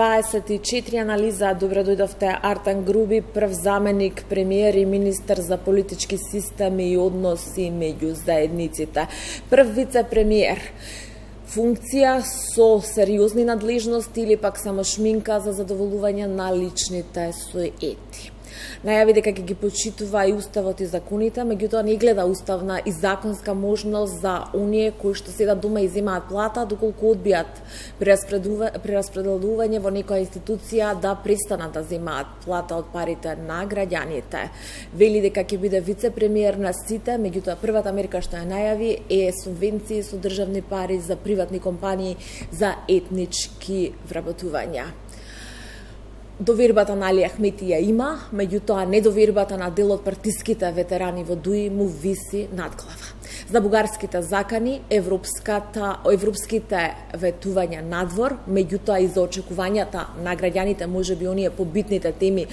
24 анализа. Добро дојдовте. Артан Груби, прв заменик премиер и министер за политички системи и односи меѓу заедниците. Прв вице-премиер. Функција со сериозни надлежности или пак само шминка за задоволување на личните суети. Најави дека ќе ги почитува и уставот и законите, меѓутоа не гледа уставна и законска можност за оние кои што седат дома и земаат плата, доколку одбијат прераспределување во некоја институција да престанат да земаат плата од парите на граѓаните. Вели дека ќе биде вице-премиер на сите, меѓутоа првата мерка што ја најави е субвенции со државни пари за приватни компании за етнички вработувања. Довербата на Али Ахмети ја има, меѓутоа недовербата на дел од партиските ветерани во ДУИ му виси над глава. За бугарските закани, европските ветувања надвор, меѓутоа и за очекувањата на граѓаните, можеби оние побитните теми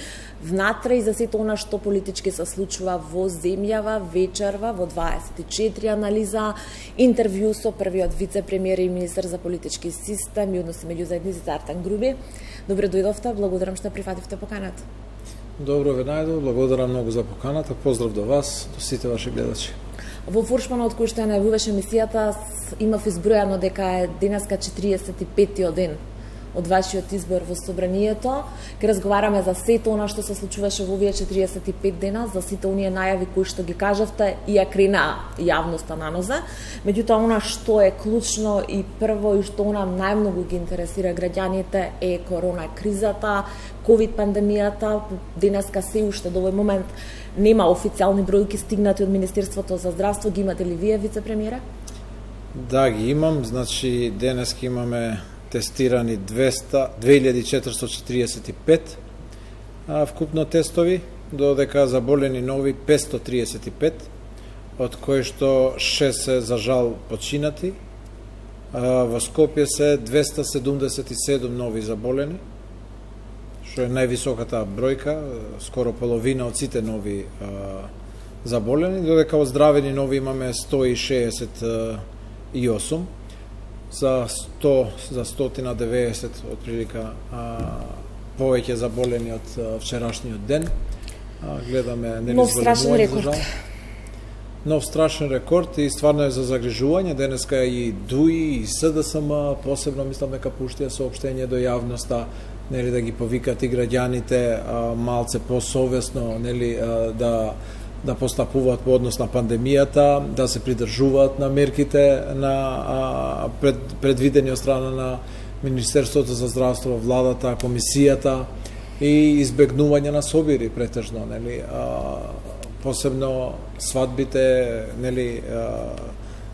внатре и за сето она што политички се случува во земјава, вечерва во 24 анализа, интервју со првиот вице-премиер и министер за политички систем и односи меѓу заедниците Артан Груби. Добро дојдовте, благодарам што прифативте поканата. Добро ве најдов, благодарам многу за поканата, поздрав до вас, до сите ваши гледачи. Во фуршманот кој што ја најавуваше емисијата, имав избројано дека е денеска 45-тиот ден од вашиот избор во собранието. Ке разговараме за сето она што се случуваше во овие 45 дена, за сите оние најави кои што ги кажавте и ја крена јавноста на нозе. Меѓутоа, она што е клучно и прво и што она најмногу ги интересира граѓаните е корона кризата, ковид пандемијата. Денеска се уште до овој момент нема официјални бројки стигнати од Министерството за здравство. Ги имате ли вие, вице-премиера? Да, ги имам. Значи, денеска имаме тестирани 2445 вкупно тестови, додека заболени нови 535, од кои што 6 се за жал починати. Во Скопје се 277 нови заболени, што е највисоката бројка, скоро половина од сите нови заболени, додека оздравени нови имаме 168, за 190 отприлика повеќе заболени од вчерашниот ден. Гледаме нов страшен рекорд. Нов страшен рекорд и стварно е за загрижување. Денеска и ДУИ и СДСМ посебно мислам дека пуштија соопштение до јавноста, нели, да ги повикат и граѓаните малце посовесно, нели, да постапуваат по однос на пандемијата, да се придржуваат на мерките на предвидени од страна на Министерството за здравство, владата, комисијата и избегнување на собири претежно, нели, посебно свадбите, нели,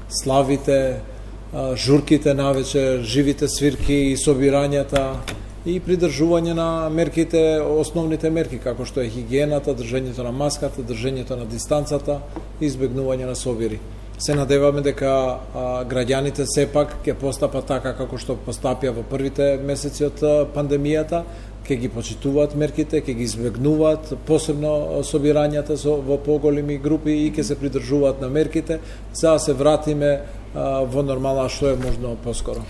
славите, журките навечер, живите свирки и собирањата и придржување на мерките, основните мерки, како што е хигиената, држењето на маската, држењето на дистанцата и избегнување на собири. Се надеваме дека граѓаните сепак ќе постапат така како што постапија во првите месеци од пандемијата, ќе ги почитуваат мерките, ќе ги избегнуваат, посебно собирањата во поголеми групи и ќе се придржуваат на мерките, за да се вратиме во нормала што е можно поскоро.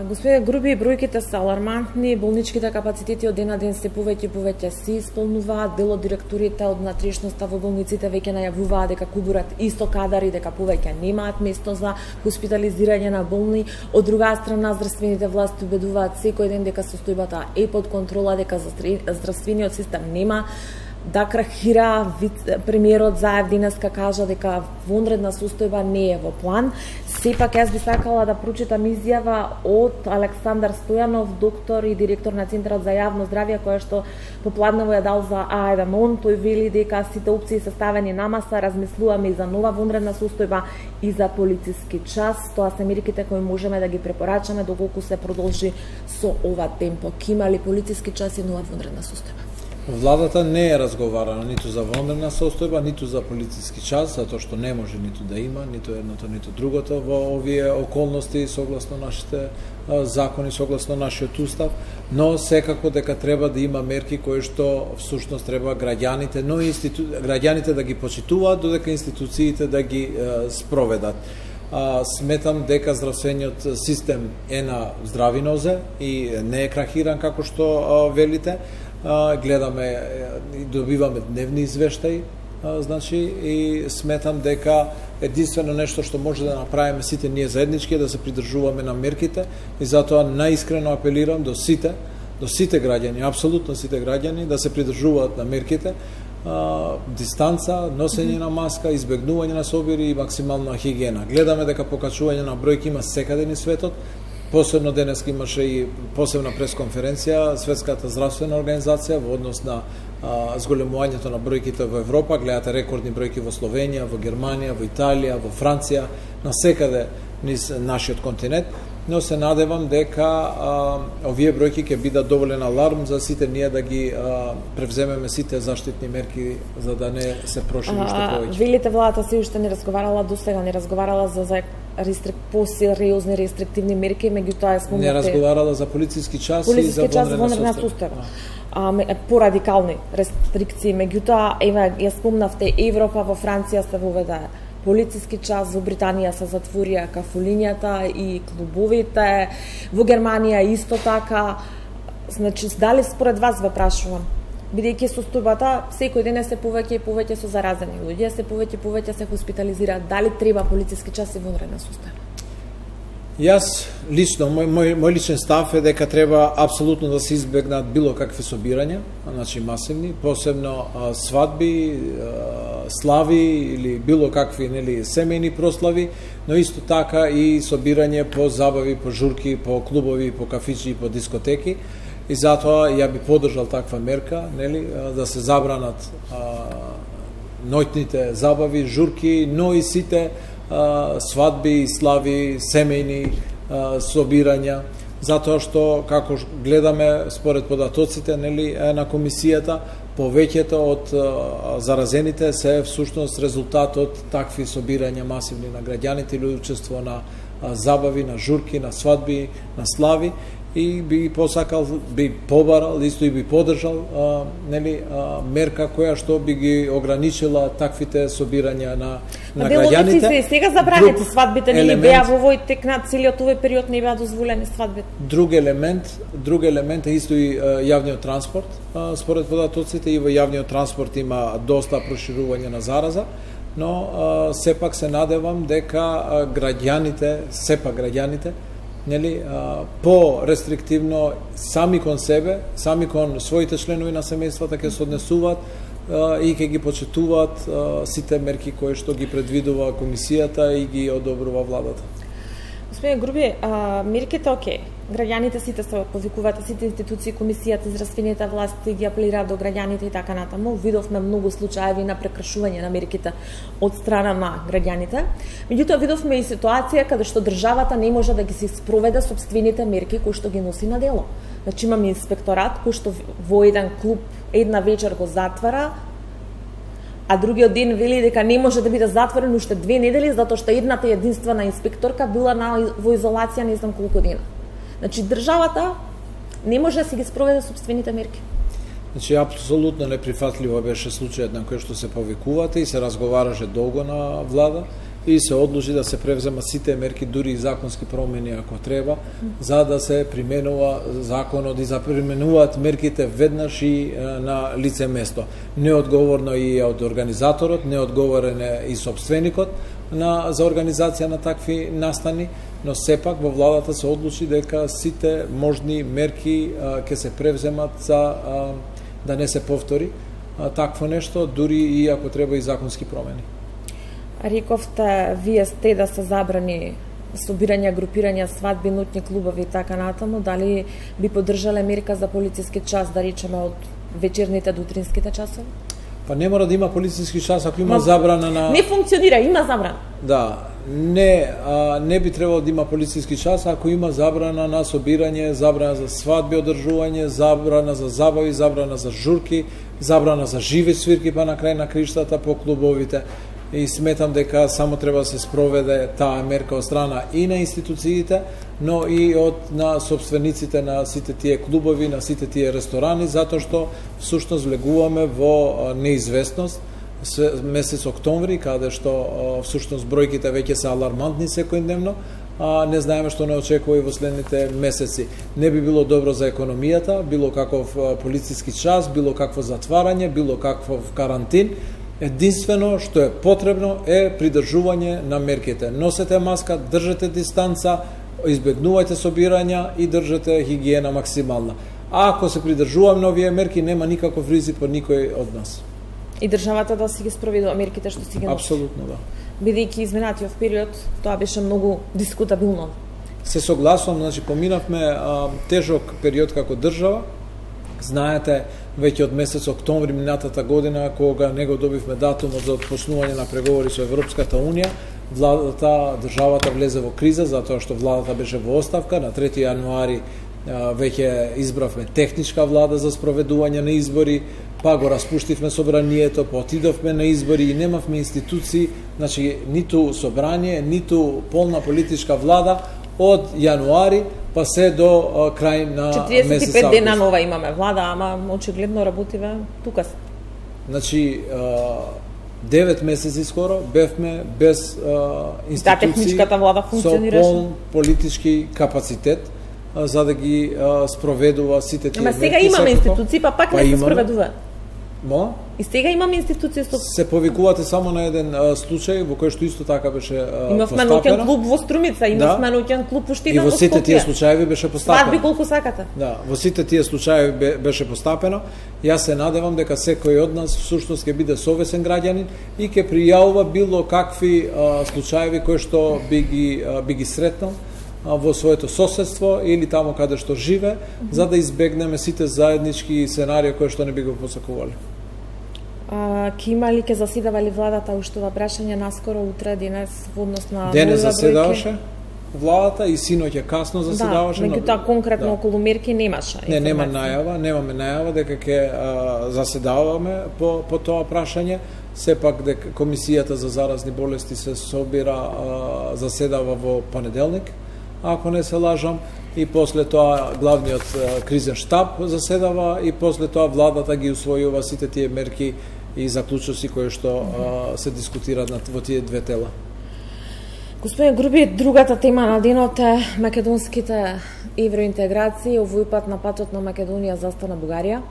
Господе Груби, бројките се алармантни, болничките капацитети од ден на ден се повеќе и повеќе се исполнуваат, дел од директорите од внатрешноста во болниците веќе најавуваат дека кубурат исто кадари, дека повеќе немаат место за хоспитализирање на болни. Од друга страна, здравствените власти убедуваат секој ден дека состојбата е под контрола, дека здравствениот систем нема да крахира. Премиерот Заев денеска кажа дека вонредна состојба не е во план. Сепак јас би сакала да прочитам изјава од Александар Стојанов, доктор и директор на Центарот за јавно здравје, која што попладнево ја дал за АЕДМОН. Тој вели дека сите опции се ставени на маса, размислуваме и за нова вонредна состојба и за полициски час. Тоа се мерките кои можеме да ги препорачаме доколку се продолжи со ова темпо. Има ли полициски час и нова вонредна состојба? Владата не е разговарала ниту за вонредна состојба, ниту за полициски час, затоа што не може ниту да има, ниту едното, ниту другото во овие околности, согласно нашите закони, согласно нашиот устав, но секако дека треба да има мерки кои што всушност треба граѓаните, но граѓаните да ги почитуваат, додека институциите да ги спроведат. сметам дека здравствениот систем е на здрави нозе и не е крахиран како што велите. Гледаме и добиваме дневни извештаи, значи, и сметам дека единствено нешто што може да направиме сите ние заеднички е да се придржуваме на мерките, и затоа наискрено апелирам до сите граѓани, апсолутно сите граѓани, да се придржуваат на мерките, дистанца, носење на маска, избегнување на собири и максимална хигиена. Гледаме дека покачување на бројки има секаде низ светот. Посебно денес имаше и посебна пресконференција Светската здравствена организација во однос на зголемувањето на бројките во Европа. Гледате рекордни бројки во Словенија, во Германија, во Италија, во Франција, на секаде низ нашиот континент. Но се надевам дека овие бројки ќе бидат доволен аларм за сите ние да ги превземеме сите заштитни мерки за да не се прошири уште повеќе. Велите владата се уште не разговарала досега, не разговарала за посериозни рестриктивни мерки, меѓутоа спомнате не разговарала за полициски час и за вонредна сустава. Порадикални рестрикции, меѓутоа ја спомнавте Европа, во Франција се воведе полициски час, во Британија се затворија кафулињата и клубовите, во Германија исто така. Значи, дали според вас ве прашувам, бидејќи состојбата секој ден се повеќе и повеќе со заразени луѓе, се повеќе и повеќе се хоспитализираат, дали треба полициски час и вонредна сустава? Јас лично, мој личен став е дека треба апсолутно да се избегнат било какви собирања, значи масивни, посебно свадби, слави или било какви семејни прослави, но исто така и собирање по забави, по журки, по клубови, по кафичи и по дискотеки. И затоа ја би поддржал таква мерка, да се забранат ноќните забави, журки, но и сите свадби, слави, семејни собирања, затоа што, како гледаме според податоците на комисијата, повеќето од заразените се всушност резултат од такви собирања масивни на граѓаните или учество на забави, на журки, на свадби, на слави, и би посакал, би побарал, исто и би поддржал мерка која што би ги ограничила таквите собирања на граѓаните. Се сега забранети свадбите, не беа во овој тек на целиот овој период не беа дозволени свадбите. Друг елемент е исто и јавниот транспорт. Според податоците и во јавниот транспорт има доста проширување на зараза, но сепак се надевам дека граѓаните по-рестриктивно сами кон себе, сами кон своите членови на семејствата ќе се однесуваат и ќе ги почитуваат сите мерки кои што ги предвидува комисијата и ги одобрува владата. Господин Груби, мерките окей. Граѓаните сите се повикуваат, сите институции, комисијата, здравствените власти ги апелираат до граѓаните и така натаму. Видовме многу случаеви на прекршување на мерките од страна на граѓаните. Меѓутоа видовме и ситуација каде што државата не може да ги се спроведе собствените мерки кои што ги носи на дело. Значи имаме инспекторат кој што во еден клуб една вечер го затвара, а другиот ден вели дека не може да биде затворен уште 2 недели затоа што едната единствена инспекторка била во изолација не знам колку дена. Значи државата не може да си ги спроведе собствените мерки. Значи апсолутно неприфатливо беше случајот на кој што се повикувате и се разговараше долго на влада и се одлучи да се превземат сите мерки, дури и законски промени ако треба, за да се применува законот и за применуваат мерките веднаш и на лице место. Неодговорно и од организаторот, неодговорен е и собственикот за организација на такви настани, но сепак во владата се одлучи дека сите можни мерки ќе се превземат за да не се повтори такво нешто, дури и ако треба и законски промени. Рековте, вие сте да се забрани собирања, групирања, свадби, ноќни клубови и така натаму, дали би поддржале мерка за полициски час, да речеме од вечерните до утринските часови? Па не мора да има полициски час ако има забрана на... Не функционира, има забрана. Да, не би требало да има полициски час ако има забрана на собирање, забрана за свадби, одржување, забрана за забави, забрана за журки, забрана за живи свирки, па на крај на криштата по клубовите. И сметам дека само треба да се спроведе таа мерка од страна и на институциите, но и на собствениците на сите тие клубови, на сите тие ресторани, затоа што всушност влегуваме во неизвестност месец октомври, каде што всушност бројките веќе се алармантни секојдневно, не знаеме што не очекува и во следните месеци. Не би било добро за економијата, било каков полициски час, било какво затварање, било каков карантин. Единствено што е потребно е придржување на мерките. Носете маска, држете дистанца, избегнувајте собирања и држете хигиена максимална. А ако се придржуваме на овие мерки, нема никаков ризик по никој од нас. И државата да си ги спроведува мерките што си ги носи. Апсолутно да. Бидејќи изминатиот период, тоа беше многу дискутабилно. Се согласувам, значи поминавме тежок период како држава. Знаете, веќе од месец октомври минатата година, кога не го добивме датумот за отпочнување на преговори со Европската Унија, државата влезе во криза, затоа што владата беше во оставка. На 3 јануари веќе избравме техничка влада за спроведување на избори, па го распуштивме собранието, па отидовме на избори и немавме институции, значи ниту собрание, ниту полна политичка влада од јануари па се до крај на месец август. 45 дена нова имаме влада, ама очигледно работиве тука се. Значи 9 месеци скоро бевме без институции, техничката влада функционираше со полн политички капацитет за да ги спроведува сите тие мерки. Ама сега имаме институции, па пак не се спроведува. Мо? И сега имаме институции што се повикувате само на еден случај во кој што исто така беше имавме ноќен клуб во Струмица, имавме ноќен клуб Уштина во Скопје. И во сите тие случаи беше постапено. Свадби колку сакате. Да, во сите тие случаи беше постапено. Јас се надевам дека секој од нас всушност ќе биде совесен граѓанин и ќе пријавува било какви случаи кои што би ги сретнал во своето соседство или таму каде што живе, за да избегнеме сите заеднички сценарии кои што не би го посакувале. Ке има ли, ке заседава ли владата уште ова прашање наскоро, утре, денес, во однос на денес заседаваше владата и синоќа касно заседаваше. Да, меѓутоа конкретно околу мерки немаше. Немаме најава дека ќе заседаваме по тоа прашање. Сепак дека Комисијата за заразни болести се собира, заседава во понеделник, ако не се лажам, и после тоа главниот кризен штаб заседава и после тоа владата ги усвојува сите тие мерки и заклучоци кои што се дискутираат во тие две тела. Господин Груби, другата тема на денот е македонските евроинтеграции, овој пат на патот на Македонија застана Бугарија.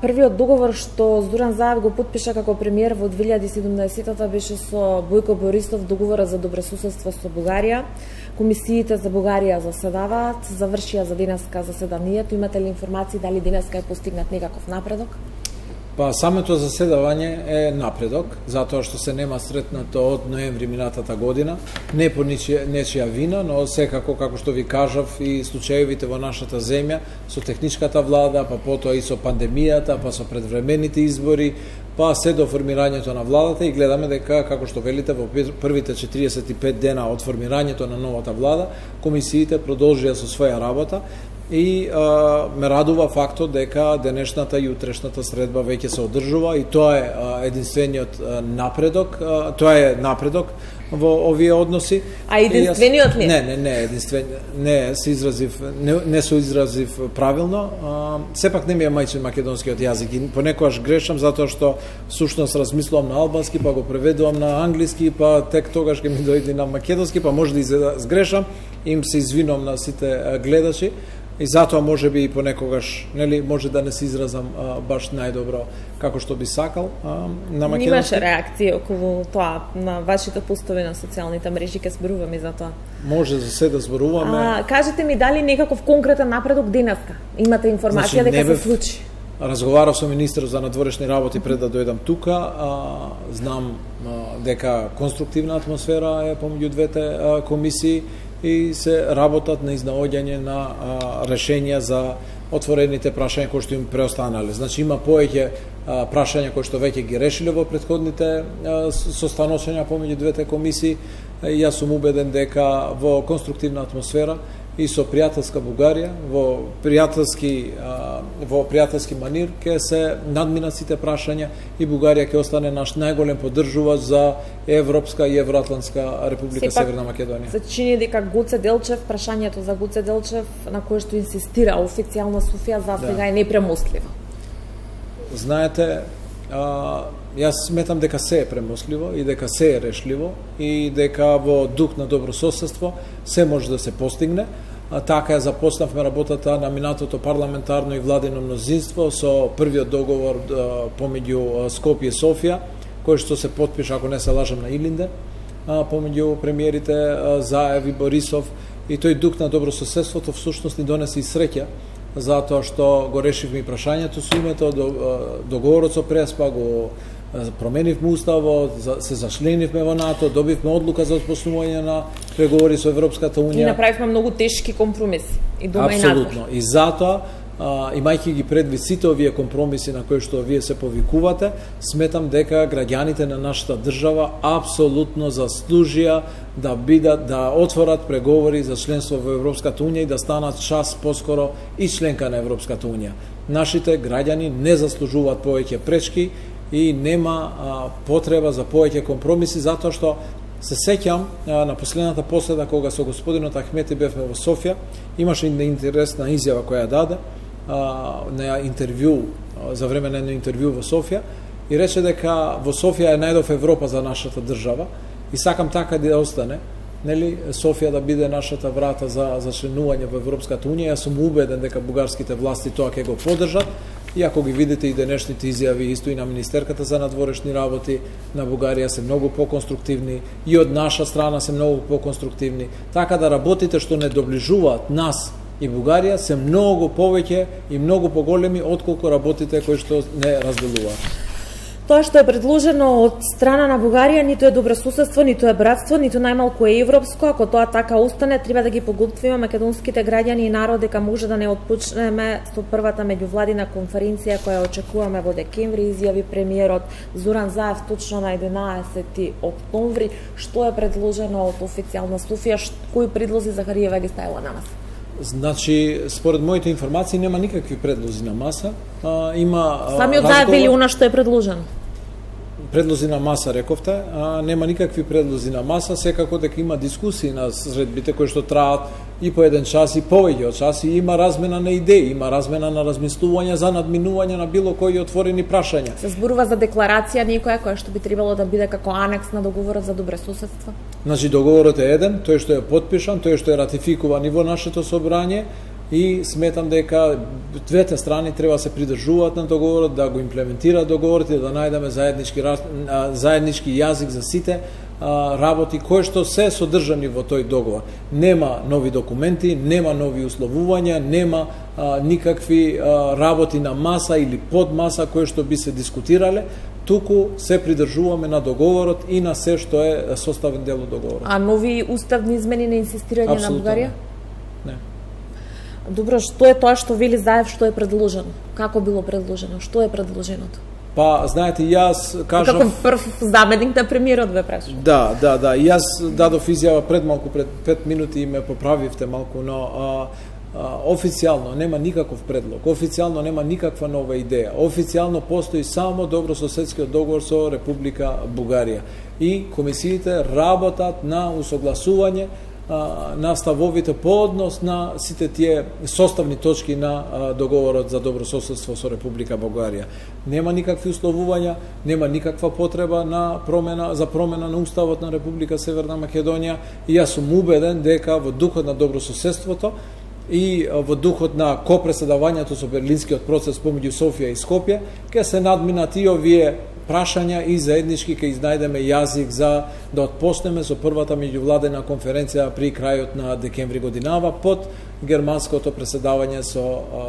Првиот договор што Зоран Заев го потпиша како премиер во 2017-та беше со Бојко Борисов, договора за добросуседство со Бугарија. Комисиите за Бугарија заседаваат, завршија за денеска заседанието. Имате ли информации дали денеска е постигнат некаков напредок? Па самото заседавање е напредок, затоа што се нема сретнато од ноември минатата година, не по нечија вина, но секако, како што ви кажав, и случаевите во нашата земја, со техничката влада, па потоа и со пандемијата, па со предвремените избори, па се до формирањето на владата и гледаме дека, како што велите, во првите 45 дена од формирањето на новата влада, комисиите продолжија со своја работа. И ме радува фактот дека денешната и утрешната средба веќе се одржува и тоа е единствениот напредок, тоа е напредок во овие односи. А единствениот ли? Не, единствен, не се изразив правилно. Сепак не ми е мајчин македонскиот јазик и понекогаш грешам затоа што всушност размислувам на албански, па го преведувам на англиски, па тек тогаш ќе ми дојде на македонски, па може да сгрешам, им се извинувам на сите гледачи. И затоа може би и понекогаш, нели, може да не се изразам баш најдобро како што би сакал на македонски. Имаше реакција околу тоа на вашите постови на социјалните мрежи, ке зборуваме за тоа. Може за се да зборуваме. Кажете ми дали некаков конкретен напредок денеска? Имате информација, значи, дека се случи? Разговарав со министерот за надворешни работи пред да дојдам тука. Знам дека конструктивна атмосфера е помеѓу двете комисии и се работат на изнаоѓање на решенија за отворените прашања кои што им преостанале. Значи има повеќе прашања кои што веќе ги решиле во претходните состаношања помеѓу двете комисии. Јас сум убеден дека во конструктивна атмосфера и со пријателска Бугарија, во пријателски манир ќе се надминат сите прашања и Бугарија ќе остане наш најголем поддржувач за Европска и Евроатлантска република Северна Македонија. Се чини дека Гоце Делчев, прашањето за Гоце Делчев на кое што инсистира официјално Софија за сега е непремостливо. Знаете, јас сметам дека се е премостливо и дека се е решливо и дека во дух на добро соседство се може да се постигне. Така започнавме работата на минатото парламентарно и владино мнозинство со првиот договор помеѓу Скопје и Софија, кој што се потпиша, ако не се лажам, на Илинден, помеѓу премиерите Заев и Борисов, и тој дух на добро соседството всушност ни донесе и среќа, затоа што го решивме и прашањето со името, договорот со Преспа, го променивме уставот, се зачленивме во НАТО, добивме одлука за отпочнување на преговори со Европската унија. И направивме многу тешки компромиси и дома и надвор. Апсолутно. И затоа, имајќи ги предвид сите овие компромиси на кои што вие се повикувате, сметам дека граѓаните на нашата држава апсолутно заслужија да отворат преговори за членство во Европската унија и да станат час поскоро и членка на Европската унија. Нашите граѓани не заслужуваат повеќе пречки и нема потреба за повеќе компромиси, затоа што се сеќам на последната поседа кога со господинот Ахмети бевме во Софија, имаше интересна изјава која даде на интервју, за време на едно интервју во Софија, и рече дека во Софија е најдов Европа за нашата држава и сакам така да остане, нели, Софија да биде нашата врата за членување во Европската унија. Јас сум убеден дека бугарските власти тоа ќе го поддржат. И ако ги видите и денешните изјави исто и на министерката за надворешни работи на Бугарија се многу поконструктивни и од наша страна се многу поконструктивни, така да работите што не доближуваат нас и Бугарија се многу повеќе и многу поголеми отколку работите кои што не разделуваат. Тоа што е предложено од страна на Бугарија ниту е добрососедство, ниту е братство, ниту најмалку е европско. Ако тоа така остане, треба да ги поготвиме македонските граѓани и народ дека може да не отпочнеме со првата меѓувладина конференција која очекуваме во декември, изјави премиерот Зоран Заев точно на 11 октомври. Што е предложено од официјална Софија, кои предлози Захариева ги ставила на маса? Значи, според моите информации нема никакви предлози на маса. Има самиот Заев вели она што е предложено. Предлози на маса, рековте, нема никакви предлози на маса, секако дека има дискусии на средбите кои што траат и по еден час и повеќе од час, и има размена на идеи, има размена на размислувања за надминување на било кои отворени прашања. Се зборува за декларација некоја која што би требало да биде како анекс на договорот за добрососедство. Значи договорот е еден, тој што е потпишан, тој што е ратификуван и во нашето собрање, и сметам дека двете страни треба да се придржуваат на договорот, да го имплементираат договорот и да најдеме заеднички јазик за сите работи кои што се содржани во тој договор. Нема нови документи, нема нови условувања, нема никакви работи на маса или под маса кои што би се дискутирале, туку се придржуваме на договорот и на се што е составен дел од договорот. А нови уставни измени на инсистирање на Бугарија? Не. Добро, што е тоа што вели Заев, што е предложено? Како било предложено? Што е предложеното? Па, знаете, јас кажав... Како прв заменик на премиерот ве прашувам. Да. Јас дадов изјава пред 5 минути и ме поправивте малку, но официјално нема никаков предлог, официјално нема никаква нова идеја. Официјално постои само добрососедскиот договор со Република Бугарија. И комисиите работат на усогласување на ставовите по однос на сите тие составни точки на договорот за добрососедство со Република Бугарија. Нема никакви условувања, нема никаква потреба за промена на уставот на Република Северна Македонија, и јас сум убеден дека во духот на добрососедството и во духот на копреседавањето со Берлинскиот процес помеѓу Софија и Скопје ќе се надминат и овие прашања и заеднички ќе изнајдеме јазик за да отпочнеме со првата меѓувладена конференција при крајот на декември годинава под германското преседавање со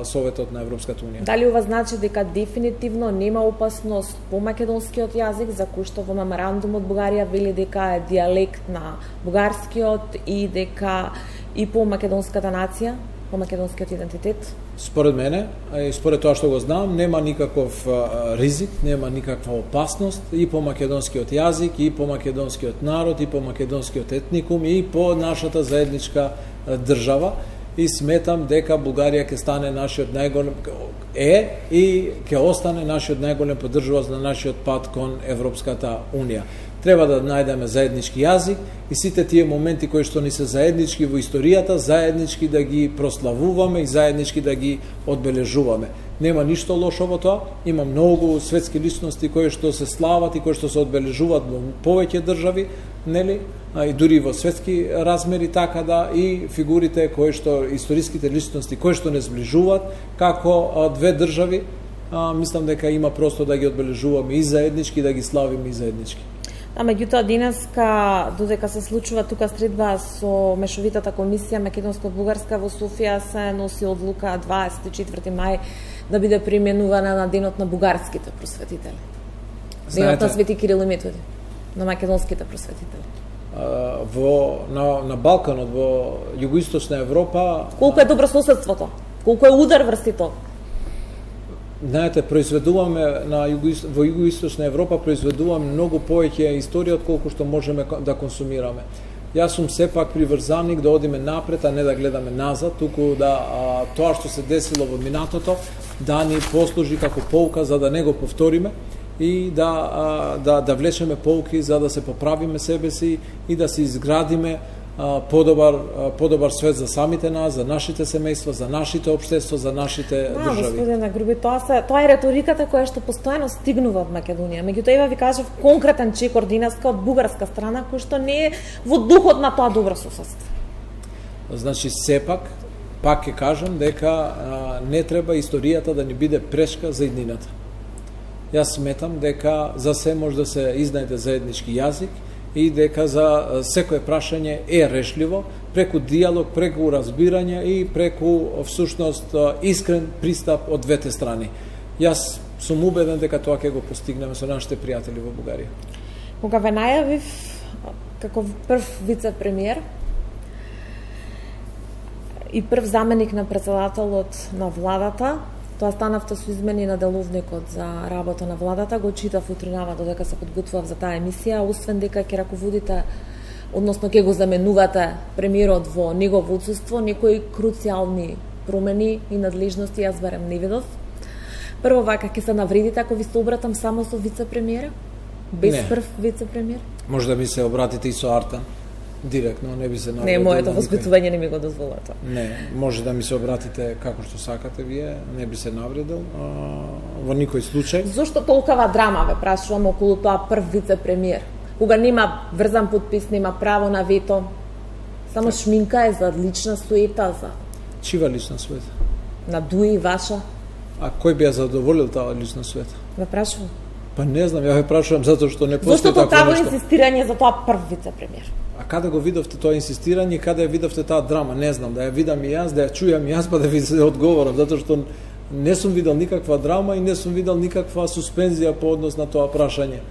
Советот на Европската унија. Дали ова значи дека дефинитивно нема опасност по македонскиот јазик, за кој што во меморандумот Бугарија вели дека е дијалект на бугарскиот и дека и по македонската нација, по македонскиот идентитет? Според мене, и според тоа што го знам, нема никаков ризик, нема никаква опасност и по македонскиот јазик, и по македонскиот народ, и по македонскиот етникум, и по нашата заедничка држава. И сметам дека Бугарија ќе стане нашиот најголем и ќе остане нашиот најголем поддржувач на нашиот пат кон Европската унија. Треба да најдеме заеднички јазик и сите тие моменти кои што ни се заеднички во историјата, заеднички да ги прославуваме и заеднички да ги одбележуваме. Нема ништо лошо во тоа, има многу светски личности кои што се слават и кои што се одбележуваат во повеќе држави, нели? И дури во светски размери, така да и фигурите кои што историските личности кои што не зближуваат како две држави, мислам дека има простор да ги одбележуваме и заеднички, да ги славиме и заеднички. Меѓутоа денеска, додека се случува тука средба со мешовитата комисија македонско-бугарска во Софија, се носи одлука 24 мај да биде применувана на денот на бугарските просветители. Денот на Свети Кирил и Методи, на македонските просветители. На Балканот, во југоисточна Европа... Колку е добрососедството? Колку е удар врз тоа? Знаете, произведуваме во југоисточна Европа произведуваме многу повеќе историја од колку што можеме да консумираме. Јас сум сепак приврзаник да одиме напред, а не да гледаме назад, туку да тоа што се десило во минатото да ни послужи како поука за да не го повториме и да влечеме поуки за да се поправиме себе си и да се изградиме подобар свет за самите нас, за нашите семејства, за нашите општества, за нашите држави. Господине Груби, тоа е реториката која што постојано стигнува од Македонија. Меѓутоа, ева ви кажав конкретен чекор денеска од бугарска страна кој што не е во духот на тоа добро соседство. Значи, сепак, пак ќе кажам дека не треба историјата да ни биде прешка за иднината. Јас сметам дека за се може да се изнајде заеднички јазик и дека за секое прашање е решливо преку диалог, преку разбирање и преку всушност искрен пристап од двете страни. Јас сум убеден дека тоа ќе го постигнеме со нашите пријатели во Бугарија. Кога ве најавив како прв вице-премиер и прв заменик на претседателот на владата, тоа станавте со измени на деловникот за работа на владата, го читав утринава додека се подготвував за таа емисија, освен дека ќе раководите, односно ќе го заменувате премиерот во негово отсуство, некои круцијални промени и надлежности јас барем не видов. Прво, вака ќе се навредите ако ви се обратам само со вице-премиера? Без прв вице-премиер? Може да ми се обратите и со Артан. Директно, не би се навредил. Не, моето воспитување не ми го дозвола тоа. Не, може да ми се обратите како што сакате вие, не би се навредил во никој случај. Зошто толкова драма ве прашувам околу тоа прв вице-премиер? Кога нема врзан подпис, нема право на вето, само шминка е за лична суета, за... Чива лична суета? На Дуи, ваша. А кој би ја задоволил таа лична суета? Ве прашувам. Па не знам, ја ве прашувам затоа што не постои такво нешто. Зошто такво инсистирање за тоа прв вице-премиер? А каде го видовте тоа инсистирање и каде ја видовте таа драма? Не знам, да ја видам и јас, да ја чујам и јас, па да ви се одговорам, затоа што не сум видел никаква драма и не сум видел никаква суспензија по однос на тоа прашање.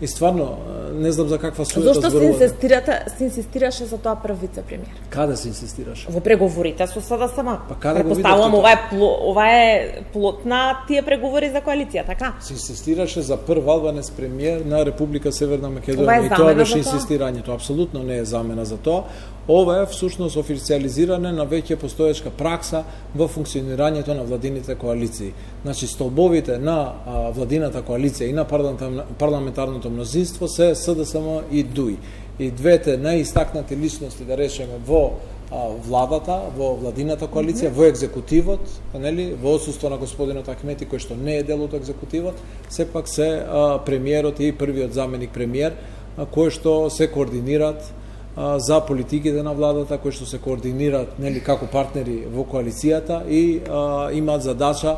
И стварно, не знам за каква суета зборувате. Зошто се инсистираше за тоа прв вице-премиер? Каде се инсистираше? Во преговорите со СДСМ. Па каде го видовте? Ова е плод на тие преговори за коалиција, така? Се инсистираше за прв албанец премиер на Република Северна Македонија. И тоа беше инсистирањето. Апсолутно не е замена за тоа. Ова е всушност официализиране на веќе постоечка пракса во функционирањето на владините коалиции. Значи, столбовите на владината коалиција и на парламентарното мнозинство се СДСМ и ДУИ. И двете најистакнати личности, да речеме, во владата, во владината коалиција, во екзекутивот, нели, во отсуство на господинот Ахмети, кој што не е дел од екзекутивот, сепак се премиерот и првиот заменик премиер, кои што се координираат за политиките на владата, кои што се координираат, нели, како партнери во коалицијата и имаат задача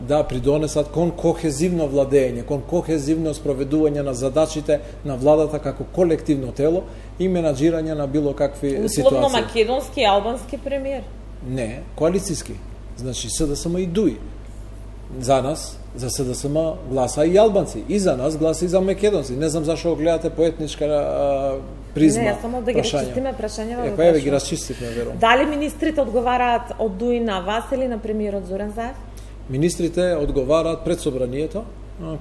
да придонесат кон кохезивно владење, кон кохезивно спроведување на задачите на владата како колективно тело и менаџирање на било какви ситуации. Условно македонски и албански премиер? Не, коалицијски. Значи СДСМ и ДУИ. За нас, за СДСМ гласа и албанци, и за нас гласа и за македонци. Не знам зашо гледате по етничка призма. Не, само да ги расчистиме прашања. Па еве ги расчистивме, верувам. Дали министрите одговараат од ДУИ на вас или на премиерот Зоран Заев? Министрите одговараат пред собранието,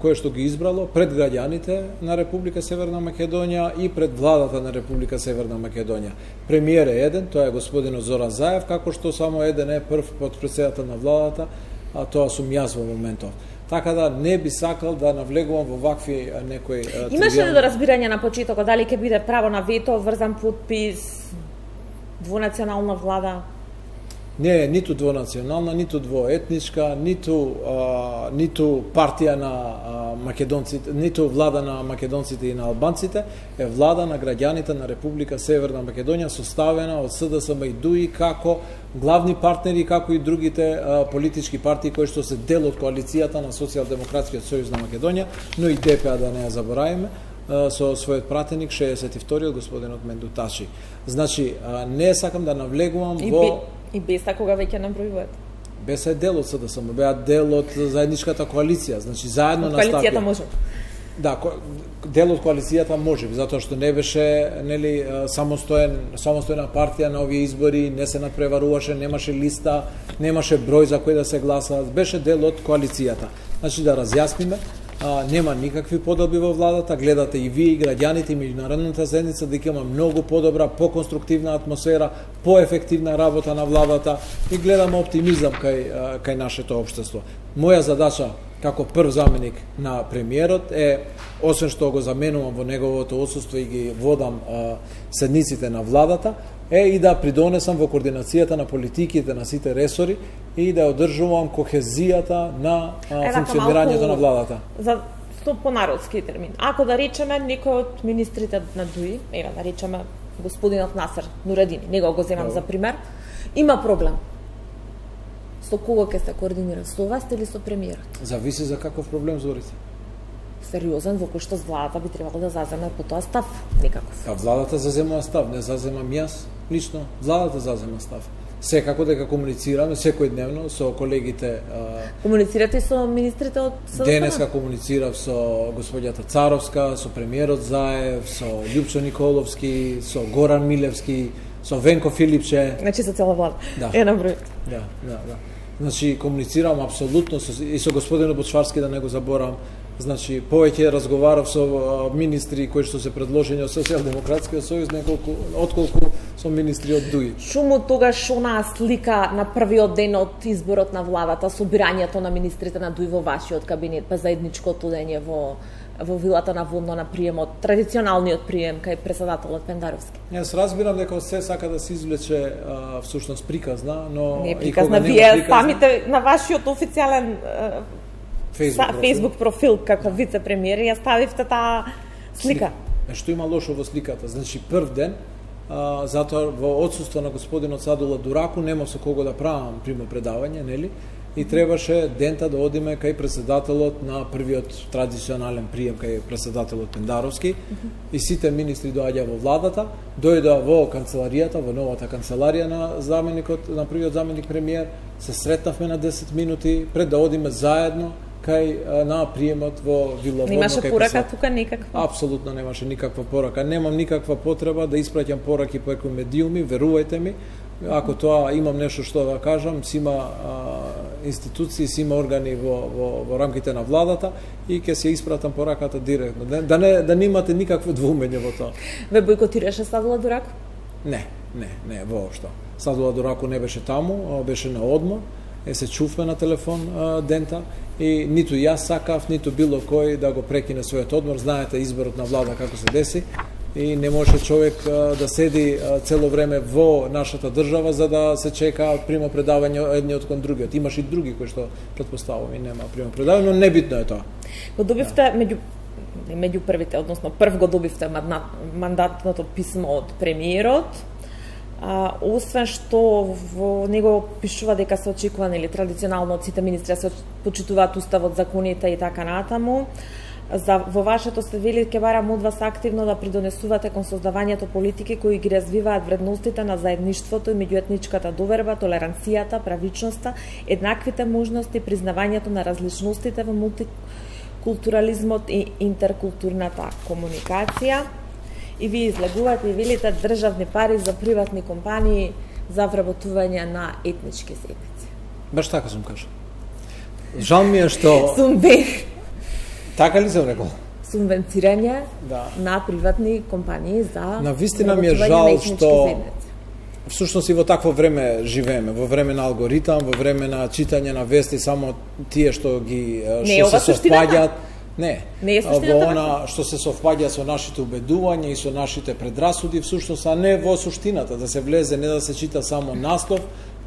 кое што ги избрало, пред граѓаните на Република Северна Македонија и пред владата на Република Северна Македонија. Премиер е еден, тоа е господинот Зоран Заев, како што само еден е прв потпредседател на владата, а тоа сум јас во моментов. така да не би сакал да навлегувам во вакви некои Имаше ли до разбирање на почетокот дали ќе биде право на вето, врзан подпис, двунационална влада? Не е ниту двунационална, ниту двоетничка, ниту партија на македонците, ниту влада на македонците и на албанците, е влада на граѓаните на Република Северна Македонија, составена од СДСМ и ДУИ како главни партнери, како и другите политички партии кои што се дел од коалицијата на Социјалдемократскиот сојуз на Македонија, но и ДПА да не ја забораваме, со својот пратеник 62-иот господинот Мендуташи. Значи, не сакам да навлегувам во... И Беса кога веќе набројуваат? Беса е дел од СДСМ, беа дел од заедничката коалиција, значи заедно настапија. Коалицијата може. Да, дел од коалицијата може, затоа што не беше самостојна партија на овие избори, не се надпреваруваше, немаше листа, немаше број за кој да се гласа, беше дел од коалицијата. Значи да разјасниме, нема никакви подобри во владата, гледате и вие и граѓаните и меѓународната заедница дека има многу подобра, поконструктивна атмосфера, поефективна работа на владата и гледаме оптимизам кај нашето општество. Моја задача како прв заменик на премиерот е, освен што го заменувам во неговото отсуство и ги водам седниците на владата, е и да придонесам во координацијата на политиките на сите ресори и да одржувам кохезијата на функционирањето на владата. За понародски термин. Ако да речеме некој од министрите на ДУИ, да речеме господинот Насер Нуредини, него го земам за пример, има проблем. Со кого ќе се координира? Со вас или со премиерот? Зависи за каков проблем зборите. Сериозен, во кој што владата би требало да заземе по тоа став, некаков. Владата зазема став, не заземам јас лично, владата зазема став. Секако дека комуницираме секојдневно со колегите. Комуницирате со министрите од СДСМ? Денеска комуницирав со господјата Царовска, со премиерот Заев, со Љупчо Николовски, со Горан Милевски, со Венко Филипче. Значи со цела влада. Да. Е на број. Да. Значи комуницирам апсолутно и со господинот Бочварски, да не го заборавам. Значи, повеќе разговарав со министри кои што се предложени од Социјалдемократскиот сојуз, отколку со министри од ДУИ. Шуму тогаш онаа слика на првиот ден од изборот на владата, собирањето на министрите на ДУИ во вашиот кабинет, па заедничкото дење во вилата на Водно на приемот, традиционалниот прием кај председателот Пендаровски. Јас разбирам дека се сака да се извлече всушност приказна, но не приказна, вие самите на вашиот официјален Facebook профил како вице-премиер ја ставивте таа слика. Што има лошо во сликата? Значи прв ден, затоа во отсуство на господинот Садула Дураку нема со кого да правам примопредавање, нели? И требаше дента да одиме кај председателот на првиот традиционален прием кај председателот Пендаровски и сите министри доаѓа во владата, дојда во канцеларијата, во новата канцеларија на заменикот, на првиот заменик премиер, се сретнавме на 10 минути пред да одиме заедно кај на приемот во Вила Водно. Немаше порака тука никаква? Апсолутно немаше никаква порака. Немам никаква потреба да испраќам пораки преку медиуми, верувајте ми. Ако тоа имам нешто што да кажам, си има институции, си има органи во рамките на владата и ќе се испратам пораката директно. Да не имате никакво двумење во тоа. Ве бойкотираше Садула Дураку? Не, воопшто. Садула Дураку не беше таму, беше на одмор. Се чувме на телефон дента и ниту јас сакав, ниту било кој да го прекине својот одмор. Знаете изборот на влада како се деси и не може човек да седи цело време во нашата држава за да се чека примопредавање едниот кон другиот. Имаш и други кои што претпоставувам и нема примопредавање, но небитно е тоа. Го добивте меѓу првите, односно прв го добивте мандатното писмо од премиерот. Освен што во него пишува дека се очекува традиционално од сите министри се почитуваат уставот, законите и така натаму. Во вашето се вели ќе барам од вас активно да придонесувате кон создавањето политики кои ги развиваат вредностите на заедништвото и меѓуетничката доверба, толеранцијата, правичноста, еднаквите можности, признавањето на различностите во мултикултурализмот и интеркултурната комуникација. И ви излегувате и велите државни пари за приватни компании за вработување на етнички заедници. Баш така сум кажал. Жал ми е што... Така ли сум рекол? Субвенцирање на приватни компании за навистина ми е жал што всушност и во такво време живееме, во време на алгоритам, во време на читање на вести, само тие што ги што се совпаѓаат. Не е суштината. Во она што се совпаѓа со нашите убедувања и со нашите предрасуди, всушност, а не во суштината, да се влезе, не да се чита само наслов,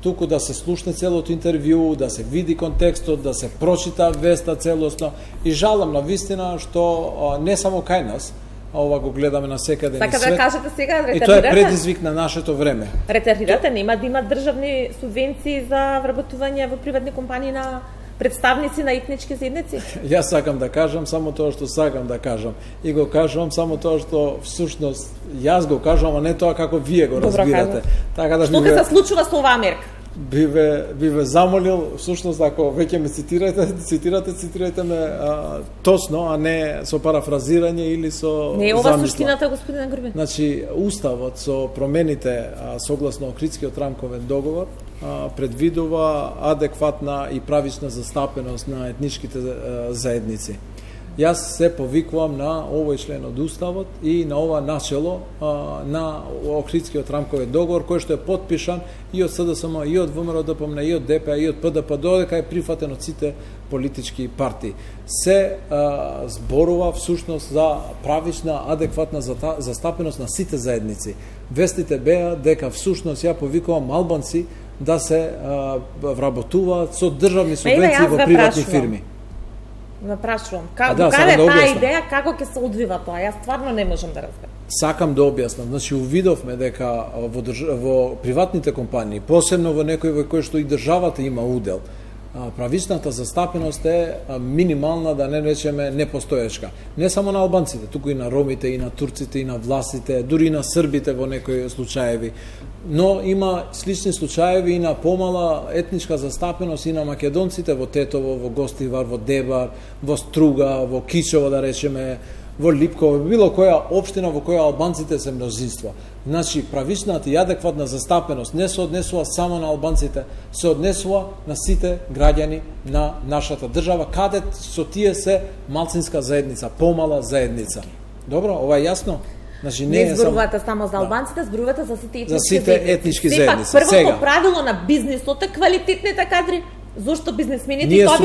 туку да се слушне целото интервју, да се види контекстот, да се прочита веста целосно. И жалам на вистина што не само кај нас, ова го гледаме на секаде на свет. Така да кажете сега, ретардирате. И тоа е предизвик на нашето време. Ретардирате, нема да има државни субвенции за вработување во приватни компании на представници на етнички заедници? Јас сакам да кажам само тоа што сакам да кажам. И го кажувам само тоа што всушност јас го кажувам, а не тоа како вие го разбирате. Така да што ќе се случува со оваа мерка? Би ве замолил, всушност, ако веќе ме цитирате ме точно, а не со парафразирање или со не е ова суштината, господин Грбин. Значи, уставот со промените согласно Охридскиот рамковен договор предвидува адекватна и правична застапеност на етничките заедници. Јас се повикувам на овој член од Уставот и на ова начело на Охридскиот рамковен договор, кој што е потпишан и од СДСМ, и од ВМРО-ДПМН, и од ДПА, и од ПДП, додека е прифатен од сите политички партии. Се зборува всушност за правична, адекватна застапеност на сите заедници. Вестите беа дека всушност ја повикувам албанци да се вработуваат со државни субвенции во приватни фирми. Напрашувам. Каде таа идеја, како ќе се одвива тоа? Јас стварно не можам да разберам. Сакам да објаснам. Значи, увидовме дека во приватните компании, посебно во некои во кои што и државата има удел, правичната застапеност е минимална, да не речеме непостоечка. Не само на албанците, туку и на ромите, и на турците, и на власите, дури и на србите во некои случаеви. Но има слични случаеви и на помала етничка застапеност и на македонците во Тетово, во Гостивар, во Дебар, во Струга, во Кичево, да речеме, во Липково, било која општина во која албанците се мнозинство. Значи, правичната и адекватна застапеност не се однесува само на албанците, се однесува на сите граѓани на нашата држава, каде со тие се малцинска заедница, помала заедница. Добро, ова е јасно? Значи, не зборувате само за албанците, зборувате за сите етнички заедници. Сепак, првото правило на бизнисот е квалитетните кадри. Зошто бизнесмените тоа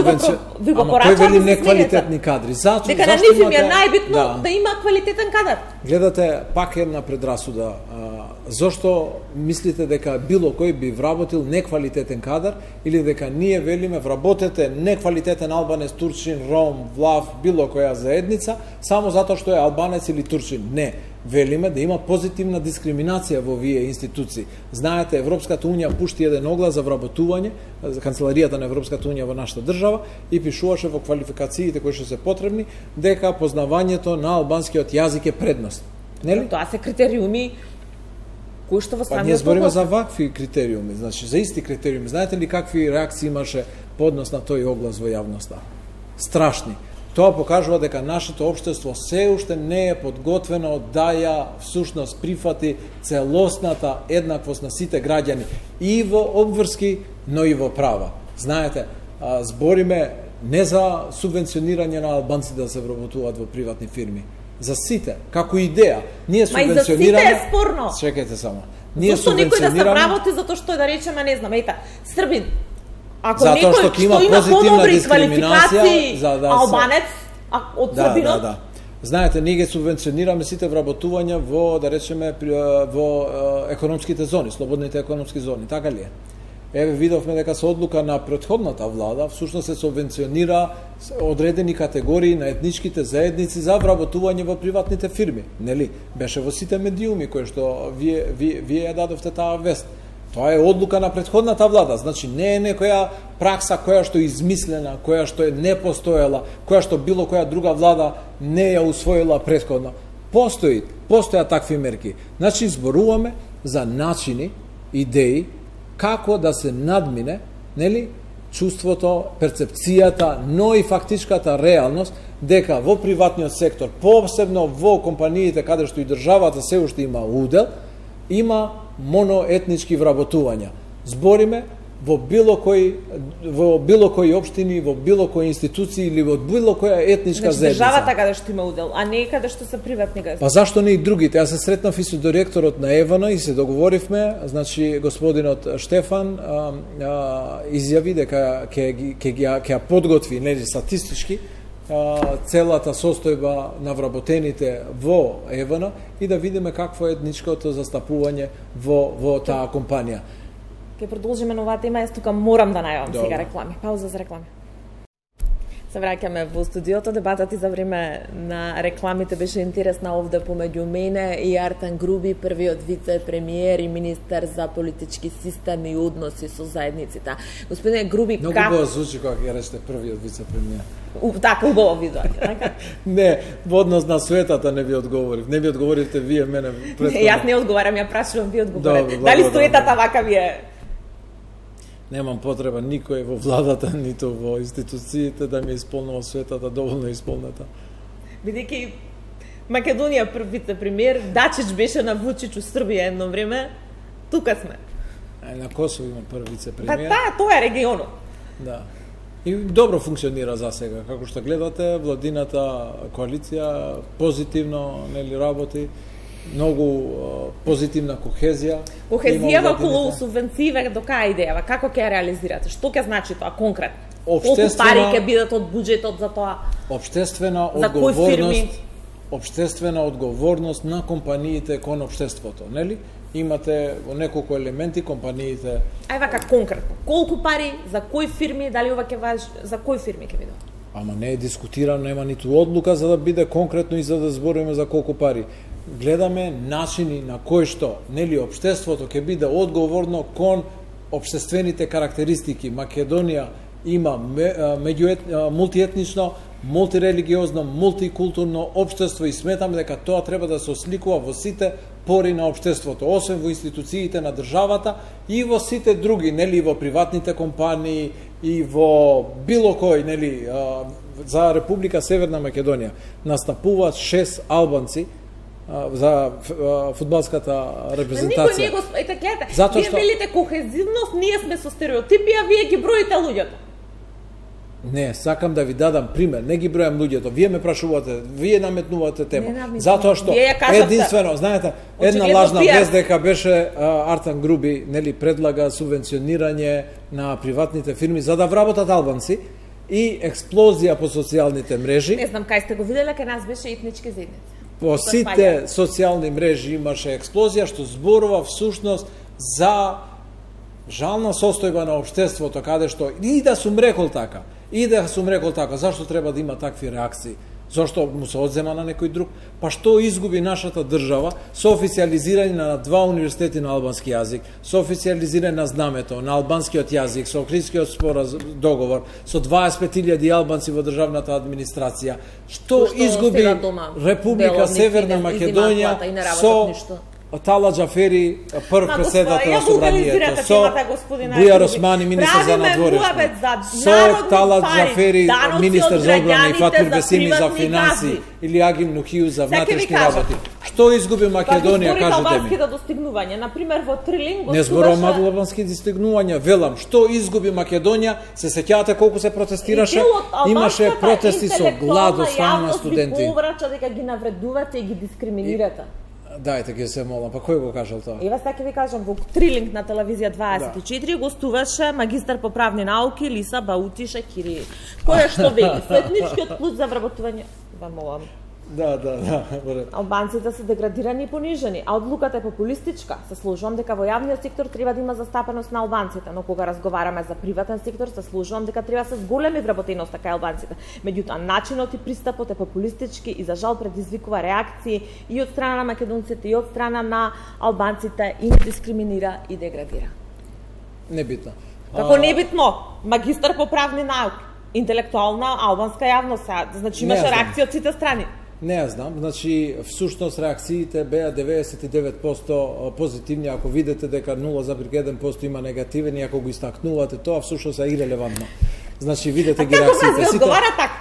ви го порачаат? Ама кој вели неквалитетни кадри? Дека на нив им е најбитно да има квалитетен кадар. Гледате, пак една предрасуда. Зошто мислите дека било кој би вработил неквалитетен кадар или дека ние велиме вработете неквалитетен албанец, турчин, ром, влав, било која заедница, само затоа што е албанец или турчин? Не. Велиме да има позитивна дискриминација во овие институции. Знаете, Европската унија пушти еден оглас за вработување, канцеларијата на Европската унија во нашата држава, и пишуваше во квалификациите кои што се потребни дека познавањето на албанскиот јазик е предност. Нели? Тоа се критериуми кои што во самиот ние збориме за вакви критериуми, значи за исти критериуми. Знаете ли какви реакции имаше по однос на тој оглас во јавноста? Страшни. Тоа покажува дека нашето општество се уште не е подготвено да ја всушност прифати целосната еднаквост на сите граѓани и во обврски, но и во права. Знаете, збориме не за субвенционирање на албанци да се вработуваат во приватни фирми, за сите, како идеја. Ние субвенционираме. Ма и за сите е спорно. Чекајте само. Зошто никој да се вработи затоа што е, да речеме, не знам, ета, Србин. Ако затоа некој што има позитивна дискриминација за албанец од Србинот. Да. Знаете, ние ги субвенционираме сите вработувања во, да речеме, во економските зони, слободните економски зони, така ли е? Еве, видовме дека со одлука на претходната влада всушност се субвенционира одредени категории на етничките заедници за вработување во приватните фирми, нели? Беше во сите медиуми кои што вие ја дадовте таа вест. Тоа е одлука на претходната влада, значи не е некоја пракса која што е измислена, која што е не постоела, која што било која друга влада не ја усвоила претходно. Постојат такви мерки. Значи зборуваме за начини, идеи како да се надмине, нели, чувството, перцепцијата, но и фактичката реалност дека во приватниот сектор, посебно во компаниите каде што и државата се уште има удел, има моноетнички вработувања. Збориме во било кој општини, во било кој институција или во било која етничка заедница. Државата каде што има удел, а не каде што се приватни газди. Па зашто не и другите? Јас се сретнав и со директорот на ЕВН и се договоривме, значи господинот Штефан изјави дека ќе ја подготви, нели, статистички целата состојба на вработените во ЕВН и да видиме какво е етничкото застапување во таа компанија. Ке продолжиме на оваа тема, јас тука морам да најавам сега реклами. Пауза за реклами. Се враќаме во студиото. Дебатата за време на рекламите беше интересна овде помеѓу мене и Артан Груби, првиот вице-премиер и министер за политички систем и односи со заедниците. Господине Груби, многу убаво звучи кога ќе речете првиот вице-премиер. Така, убаво видоње, така? Не, во однос на суетата не ви одговорив. Не ви одговоривте вие мене претходно. Јас не одговарам, ја прашувам, ви одговорите. Дали суетата вака ви е? Немам потреба никој во владата, ниту во институциите да ми исполнува суетата доволно исполнета. Бидејќи Македонија прв вице-премиер, Дачич беше на Вучич у Србија едно време, тука сме. На Косово има прв вице-премиер. Па тоа е регионот. Да. И добро функционира за сега, како што гледате, владината коалиција позитивно нели работи. Многу позитивна кохезија. Кохезија околу субвенције до кај идејава? Како ќе ја реализирате? Што ќе значи тоа конкретно? Колку пари ќе бидат од буџетот за тоа? Општествена одговорност на компаниите кон општеството, нели? Имате во неколку елементи компаниите. Ај вака конкретно. Колку пари, за кои фирми, дали ова ќе важи, за кои фирми ќе биде? Ама не е дискутирано, нема ниту одлука за да биде конкретно и за да збориме за колку пари. Гледаме начини на кои што нели општеството ќе биде одговорно кон општествените карактеристики. Македонија има мултиетнично, мултирелигиозно, мултикултурно општество и сметаме дека тоа треба да се осликува во сите пори на општеството, освен во институциите на државата и во сите други, нели во приватните компании и во било кој, нели за Република Северна Македонија настапуваат 6 албанци за фудбалската репрезентација. Никој не го гледате. Вие велите кохезивност, ние сме со стереотипи, а вие ги броите луѓето. Не, сакам да ви дадам пример. Не ги бројам луѓето. Вие ме прашувате, вие наметнувате тема. Затоа што единствено, знаете, една лажна вест дека беше Артан Груби, нели, предлага субвенционирање на приватните фирми за да вработат албанци и експлозија по социјалните мрежи. Не знам кај сте го виделе, кај нас беше етнички заедници. По сите социјални мрежи имаше експлозија што зборува всушност за жална состојба на општеството, каде што и да сум рекол така, зашто треба да има такви реакции? Зошто му се одзема на некој друг? Па што изгуби нашата држава со официализирање на 2 универзитети на албански јазик, со официализирање на знамето на албанскиот јазик, со Охридскиот договор, со 25.000 албанци во државната администрација? Што изгуби Република Северна Македонија со Тала Џафери, прв председател на собранието, со Бујар Османи, министер за надворешно, со Тала Џафери, министер за одбрана и Фатмир Бесими за финанси, или Агим Нухију за внатрешни работи. Што изгуби Македонија, кажете ми? Достигнувања, например во Трилин не зборувам албански достигнувања, велам, што изгуби Македонија? Се сеќавате колку се протестираше? Имаше протести со глад од страна на студенти. Ви поврача дека ги навредувате и ги дискриминирате. Дајте ги се молам, па кој го кажал тоа? Ева сега ви кажам, во Трилинг на телевизија 24 гостуваше магистар по правни науки Лиса Баутиша Кири. Која што вели, со етничкиот клуч за вработување, вам молам. Да. Албанците се деградирани и понижени, а одлуката е популистичка. Се служувам дека во јавниот сектор треба да има застапеност на албанците, но кога разговараме за приватен сектор, се служувам дека треба се зголеми вработеноста кај албанците. Меѓутоа, начинот и пристапот е популистички и за жал предизвикува реакции и од страна на македонците и од страна на албанците и не дискриминира и деградира. Небитно. Како небитно? Магистар по правни науки, интелектуална албанска јавност, значи имаше реакција од сите страни. Не ја знам, значи всушност реакциите беа 99% позитивни, ако видите дека 0,1% има негативен и ако го истакнувате тоа, всушност е ирелевантно. Значи видите ги реакциите. А како ви одговара така?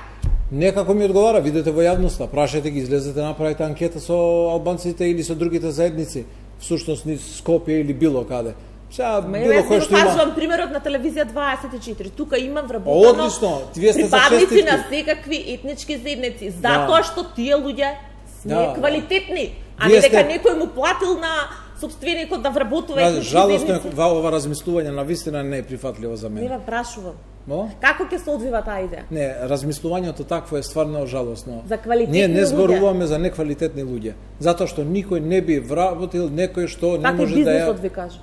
Не како ми одговара, видете во јавноста, прашајте ги, излезете, направите анкета со албанците или со другите заедници, всушност низ Скопје или било каде. Сега било кој што има. Кажувам примерот на телевизија 24. Тука има вработено. Одлично, вие сте за припадници честитки на секакви етнички заедници, затоа што тие луѓе се квалитетни, а не дека некој му платил на сопственикот да вработува етнички заедници. Жалосно ова размислување на вистина не е прифатливо за мене. Не ве прашувам. Но? Како ќе се одвива таа идеја? Не, размислувањето такво е стварно жалосно. За квалитетни Ние не зборуваме луѓе. за неквалитетни луѓе, затоа што никој не би вработил некој што не може да ја... Како бизнисот ви кажа?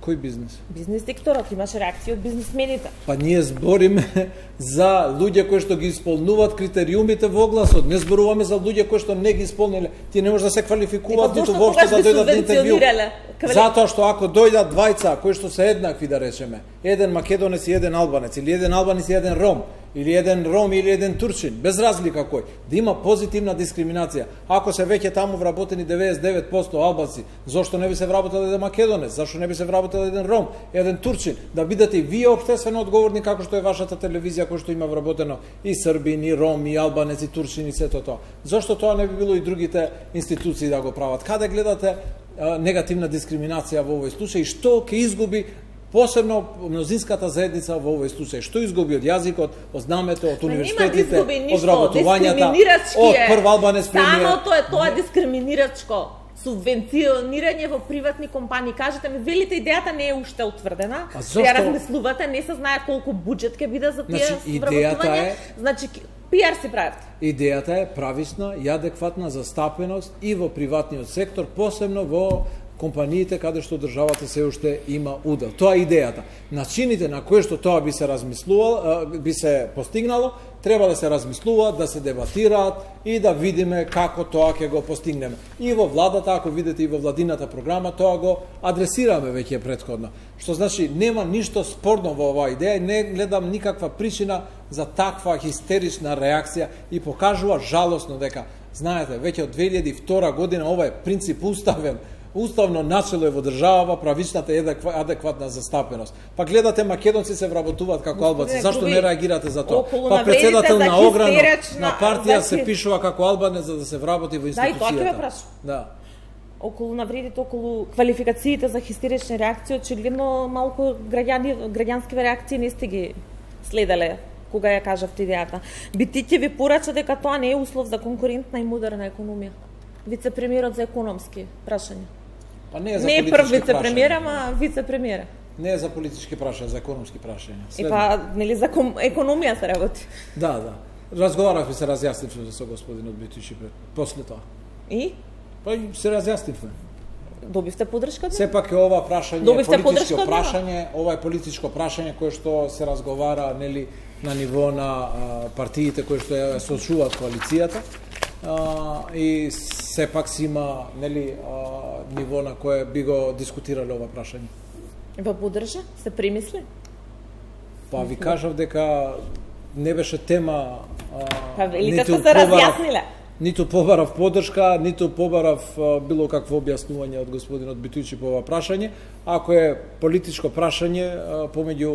Кој бизнес? Бизнес секторот, имаше реакција од бизнисмените. Па ние збориме за луѓе кои што ги исполнуваат критериумите во огласот. Не зборуваме за луѓе кои што не ги исполниле. Ти не може да се квалификуваат ниту воопшто да дојдат на интервју. Затоа што ако дојдат двајца кои што се еднакви, да речеме, еден македонец и еден албанец, или еден албанец и еден ром, или еден ром или еден турчин, без разлика кој, да има позитивна дискриминација. Ако се веќе таму вработени 99% албанци, зошто не би се вработил еден македонец, зашто не би се вработил еден ром, еден турчин, да бидете и вие општествено одговорни како што е вашата телевизија која што има вработено и србин, и ром, и албанец, и турчин и сето тоа. Зошто тоа не би било и другите институции да го прават? Каде гледате негативна дискриминација во овој случај? Што ќе изгуби посебно мнозинската заедница во овој случај? Што изгуби од јазикот, од знамето, од универзитетите, од вработувањата, од прв албанец премиер? Самото е тоа дискриминирачко. Субвенционирање во приватни компании. Кажете ми, велите идејата не е уште утврдена. Ја размислувате, не се знае колку буџет ќе биде за тие вработување. Значи, пиар си правите. Идејата е прависна и адекватна застапеност и во приватниот сектор, посебно во компаниите каде што државата се уште има удел. Тоа е идејата. Начините на кои што тоа би се размислувало, би се постигнало, треба да се размислуваат, да се дебатираат и да видиме како тоа ќе го постигнеме. И во владата, ако видите и во владината програма, тоа го адресираме веќе претходно. Што значи нема ништо спорно во оваа идеја и не гледам никаква причина за таква хистерична реакција и покажува жалосно дека, знаете, веќе од 2002 година ова е принцип уставен. Уставно начело е во држава правичната и адекватна застапеност. Па гледате македонци се вработуваат како албанци, зашто не реагирате за тоа? Па председател на ограно на партија се пишува како албанец за да се вработи во институцијата. Да, и тоа ќе ве прашам. Да. Околу навредите, околу квалификациите за хистерични реакции, очигледно малку граѓански реакции не сте ги следеле кога ја кажавте идејата. Бити ќе ви порача дека тоа не е услов за конкурентна и модерна економија. Вице-премиерот за економски прашања. Па не е за политички прашања. Не е прв вице-премиер, ама вице-премиера. Не е за политички прашања, за економски прашања. Па, нели за економија се работи? Да, да. Разговаравме, се разјаснивме со господинот Битичи после тоа. И? Па се разјаснивме. Добивте подршка? Сепак е ова прашање, политичко прашање, ова е политичко прашање кое што се разговара, нели, на ниво на партиите кои што ја сочуваат коалицијата. И сепак си има, нели, ниво на кое би го дискутирале ова прашање. Во подржа? Се премисли? Па ви кажав дека не беше тема, па велите се разјасниле. Ниту побарав подршка, ниту побарав било какво објаснување од господинот Битујчи по ова прашање. Ако е политичко прашање помеѓу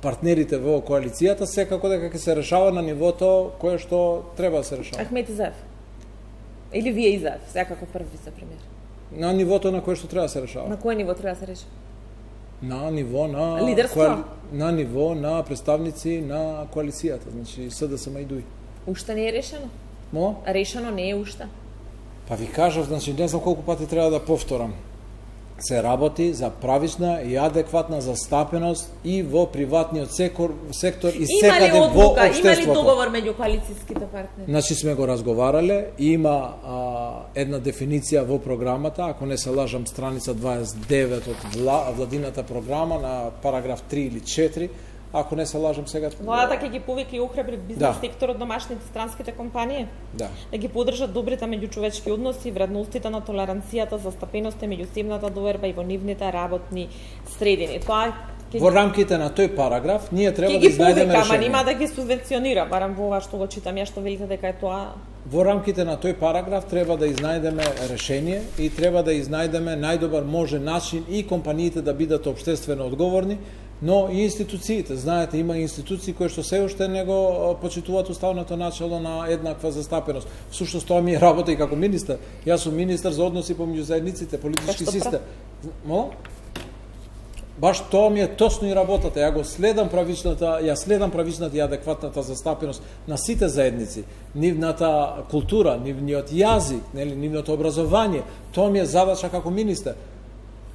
партнерите во коалицијата, секако дека ќе се решава на нивото кое што треба да се решава. Ахмет Изаев? Или вие Изаев, секако прв вице-премиер? На нивото на кое што треба да се решава. На кое ниво треба да се реши? На ниво на лидерство? На ниво на представници на коалицијата, значи СДСМ и ДУИ. Уште не е решено? Мо? Решено не е уште. Па ви кажав, значи не знам колку пати треба да повторам. Се работи за правична и адекватна застапеност и во приватниот сектор и секаде во општеството. Има ли договор меѓу коалицијските партнери? Значи сме го разговарале, има една дефиниција во програмата, ако не се лажам, страница 29 од владината програма на параграф 3 или 4, ако не се лажам сега. Владата ќе ги повика и охрабри бизнес секторот, домашните странските компании. Да. Да ги поддржат добрите меѓучовечки односи, вредностите на толеранцијата, застапеноста, меѓусебната доверба и во нивните работни средини. Тоа во рамките на тој параграф ние треба да изнајдеме решение. Ама нема да ги субвенционира, барам во ова што го читам ја, што велите дека е тоа. Во рамките на тој параграф треба да изнајдеме решение и треба да изнајдеме најдобар можен начин и компаниите да бидат општествено одговорни, но и институциите. Знаете, има институции кои што се уште не го почитуваат уставното начало на еднаква застапеност. Всушност тоа ми е работа и како министер. Јас сум министер за односи помеѓу заедниците, политички систем. Баш тоа ми е точно и работата. Ја следам правичната и адекватната застапеност на сите заедници, нивната култура, нивниот јазик, нивното образование. Тоа ми е задача како министер.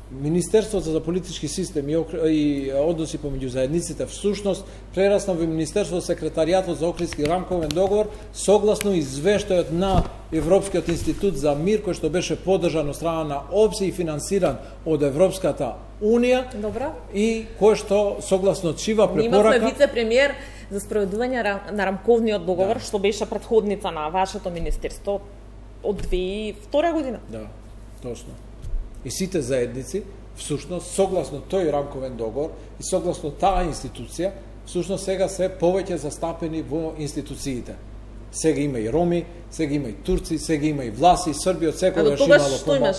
Министерството за политички систем и односи помеѓу заедниците всушност прерасна во Министерството секретаријатот за Охридски рамковен договор согласно извештајот на Европскиот институт за мир кој што беше поддржан од страна на ОПСИ и финансиран од Европската Унија. Добро. И кој што согласно чива препорака. Имавме вице-премиер за спроведување на рамковниот договор, што беше претходница на вашето министерство од 2002 година. Да, точно. И сите заедници, всушност, согласно тој рамковен договор и согласно таа институција, всушност сега се повеќе застапени во институциите. Сега има и роми, сега има и турци, сега има и власи, Србија од секогаш имало што имаш?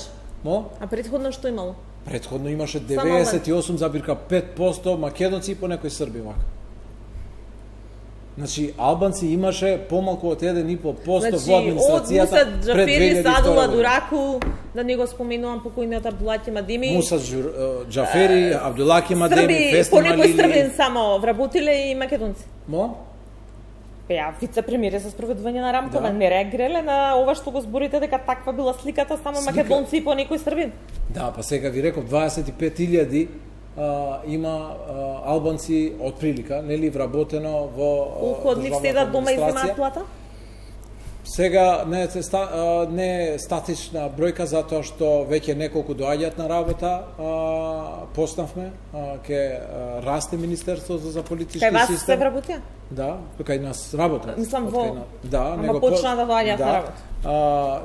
А предходно што имало? Предходно имаше 98,5% македонци и по некои срби вака. Значи, албанци имаше помалку од 1,5% во администрацијата пред 2002 година. Садула Дураку, да не го споменувам покојниот Абдулаки Мадеми. Муса Джафери, Абдулаки Мадеми, Фестин Малили. По некој србин само вработиле и македонци. Мо? Ја вице-премиер за спроведување на рамковен, не реагирале на ова што го зборите дека таква била сликата само македонци и по некој србин. Да, па сега ви реков 25.000 има албанци од прилика, нели вработено во колку од нив седат дома и земаат плата? Сега не е статична бројка затоа што веќе неколку доаѓаат на работа, поснавме, ке расте Министерството за политички систем. Кај вас се вработија? Да, кај нас работа. Мислам во. Да, ама почна да доаѓаат на работа.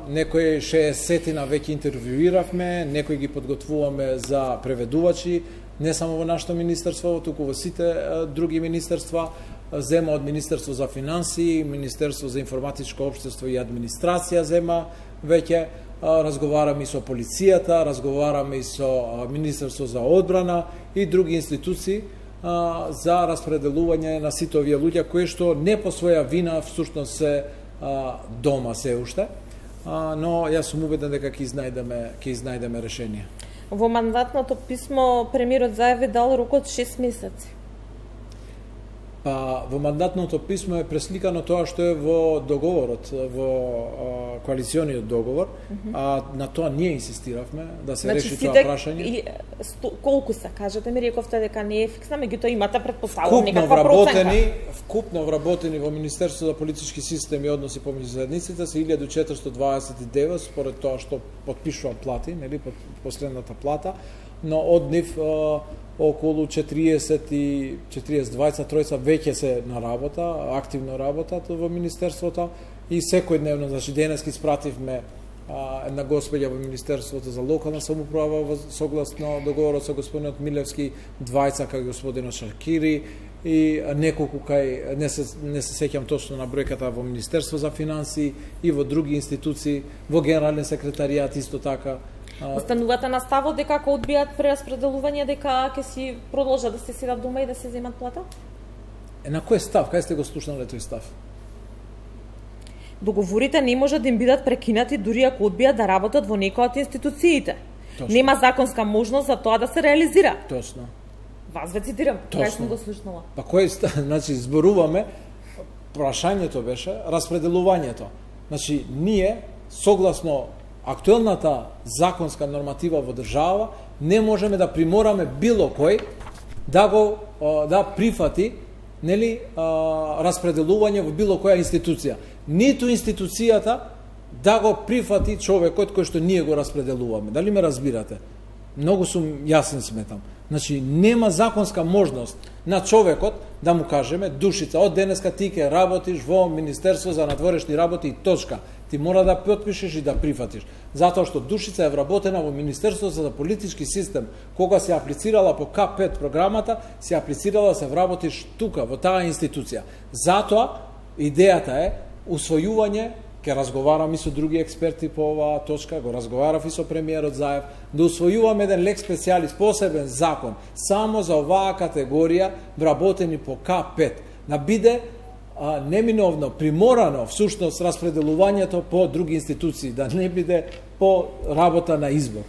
Некои 60-тина веќе интервјуиравме, некои ги подготвуваме за преведувачи, не само во нашето министерство, туку во сите други министерства, зема од Министерство за финансии, Министерство за информатичко општество и администрација зема веќе, разговараме и со полицијата, разговараме и со Министерство за одбрана и други институции за распределување на сите овие луѓе кои што не по своја вина всушност се дома се уште, но јас сум убеден дека ќе изнајдеме решение. Во мандатното писмо премиерот зајави дал рок од 6 месеци. Па во мандатното писмо е пресликано тоа што е во договорот, во коалициониот договор, а на тоа ние инсистиравме да се реши тоа прашање. Колку се, кажете ми, рековте дека не е фиксна, меѓутоа имате претпоставувам некаква проценка. Вкупно вработени во Министерството за политички систем и односи помеѓу заедниците се 1429 според тоа што потпишува плати, нели, последната плата, но од нив околу 40-42 веќе се на работа, активно работат во Министерството и секојдневно, значи денески испративме една господја во Министерството за локална самоуправа согласно договорот со господинот Милевски, двајца кај господинот Шакири и неколку кај, не се сеќам точно на бројката, во Министерство за финансии и во други институции, во Генерален секретаријат исто така. Останувате на ставот дека ако одбијат прераспределување дека ќе си продолжат да се седат дома и да се земат плата? На кој став? Кај сте го слушнале тој став? Договорите не може да им бидат прекинати дури ако одбијат да работат во некоја од институциите. Точно. Нема законска можност за тоа да се реализира. Точно. Вас ве цитирам, кај сум го слушнала. Па кој став? Значи зборуваме, прашањето беше распределувањето. Значи ние согласно актуелната законска норматива во држава не можеме да примораме било кој да прифати, нели, распределување во било која институција. Ниту институцијата да го прифати човекот кој што ние го распределуваме. Дали ме разбирате? Многу сум јасен сметам. Значи нема законска можност на човекот да му кажеме Душица, од денеска ти ќе работиш во Министерство за надворешни работи и точка. Ти мора да потпишеш и да прифатиш. Затоа што Душица е вработена во Министерството за политички систем. Кога се аплицирала по К5 програмата, се аплицирала да се вработиш тука, во таа институција. Затоа идејата е усвојување Ке разговарам и со други експерти по оваа точка, го разговарав и со премиерот Заев, да усвојуваме еден лек специјалис, посебен закон, само за оваа категорија вработени по К5, да биде неминовно, приморано, всушност, распределувањето по други институции, да не биде по работа на избор.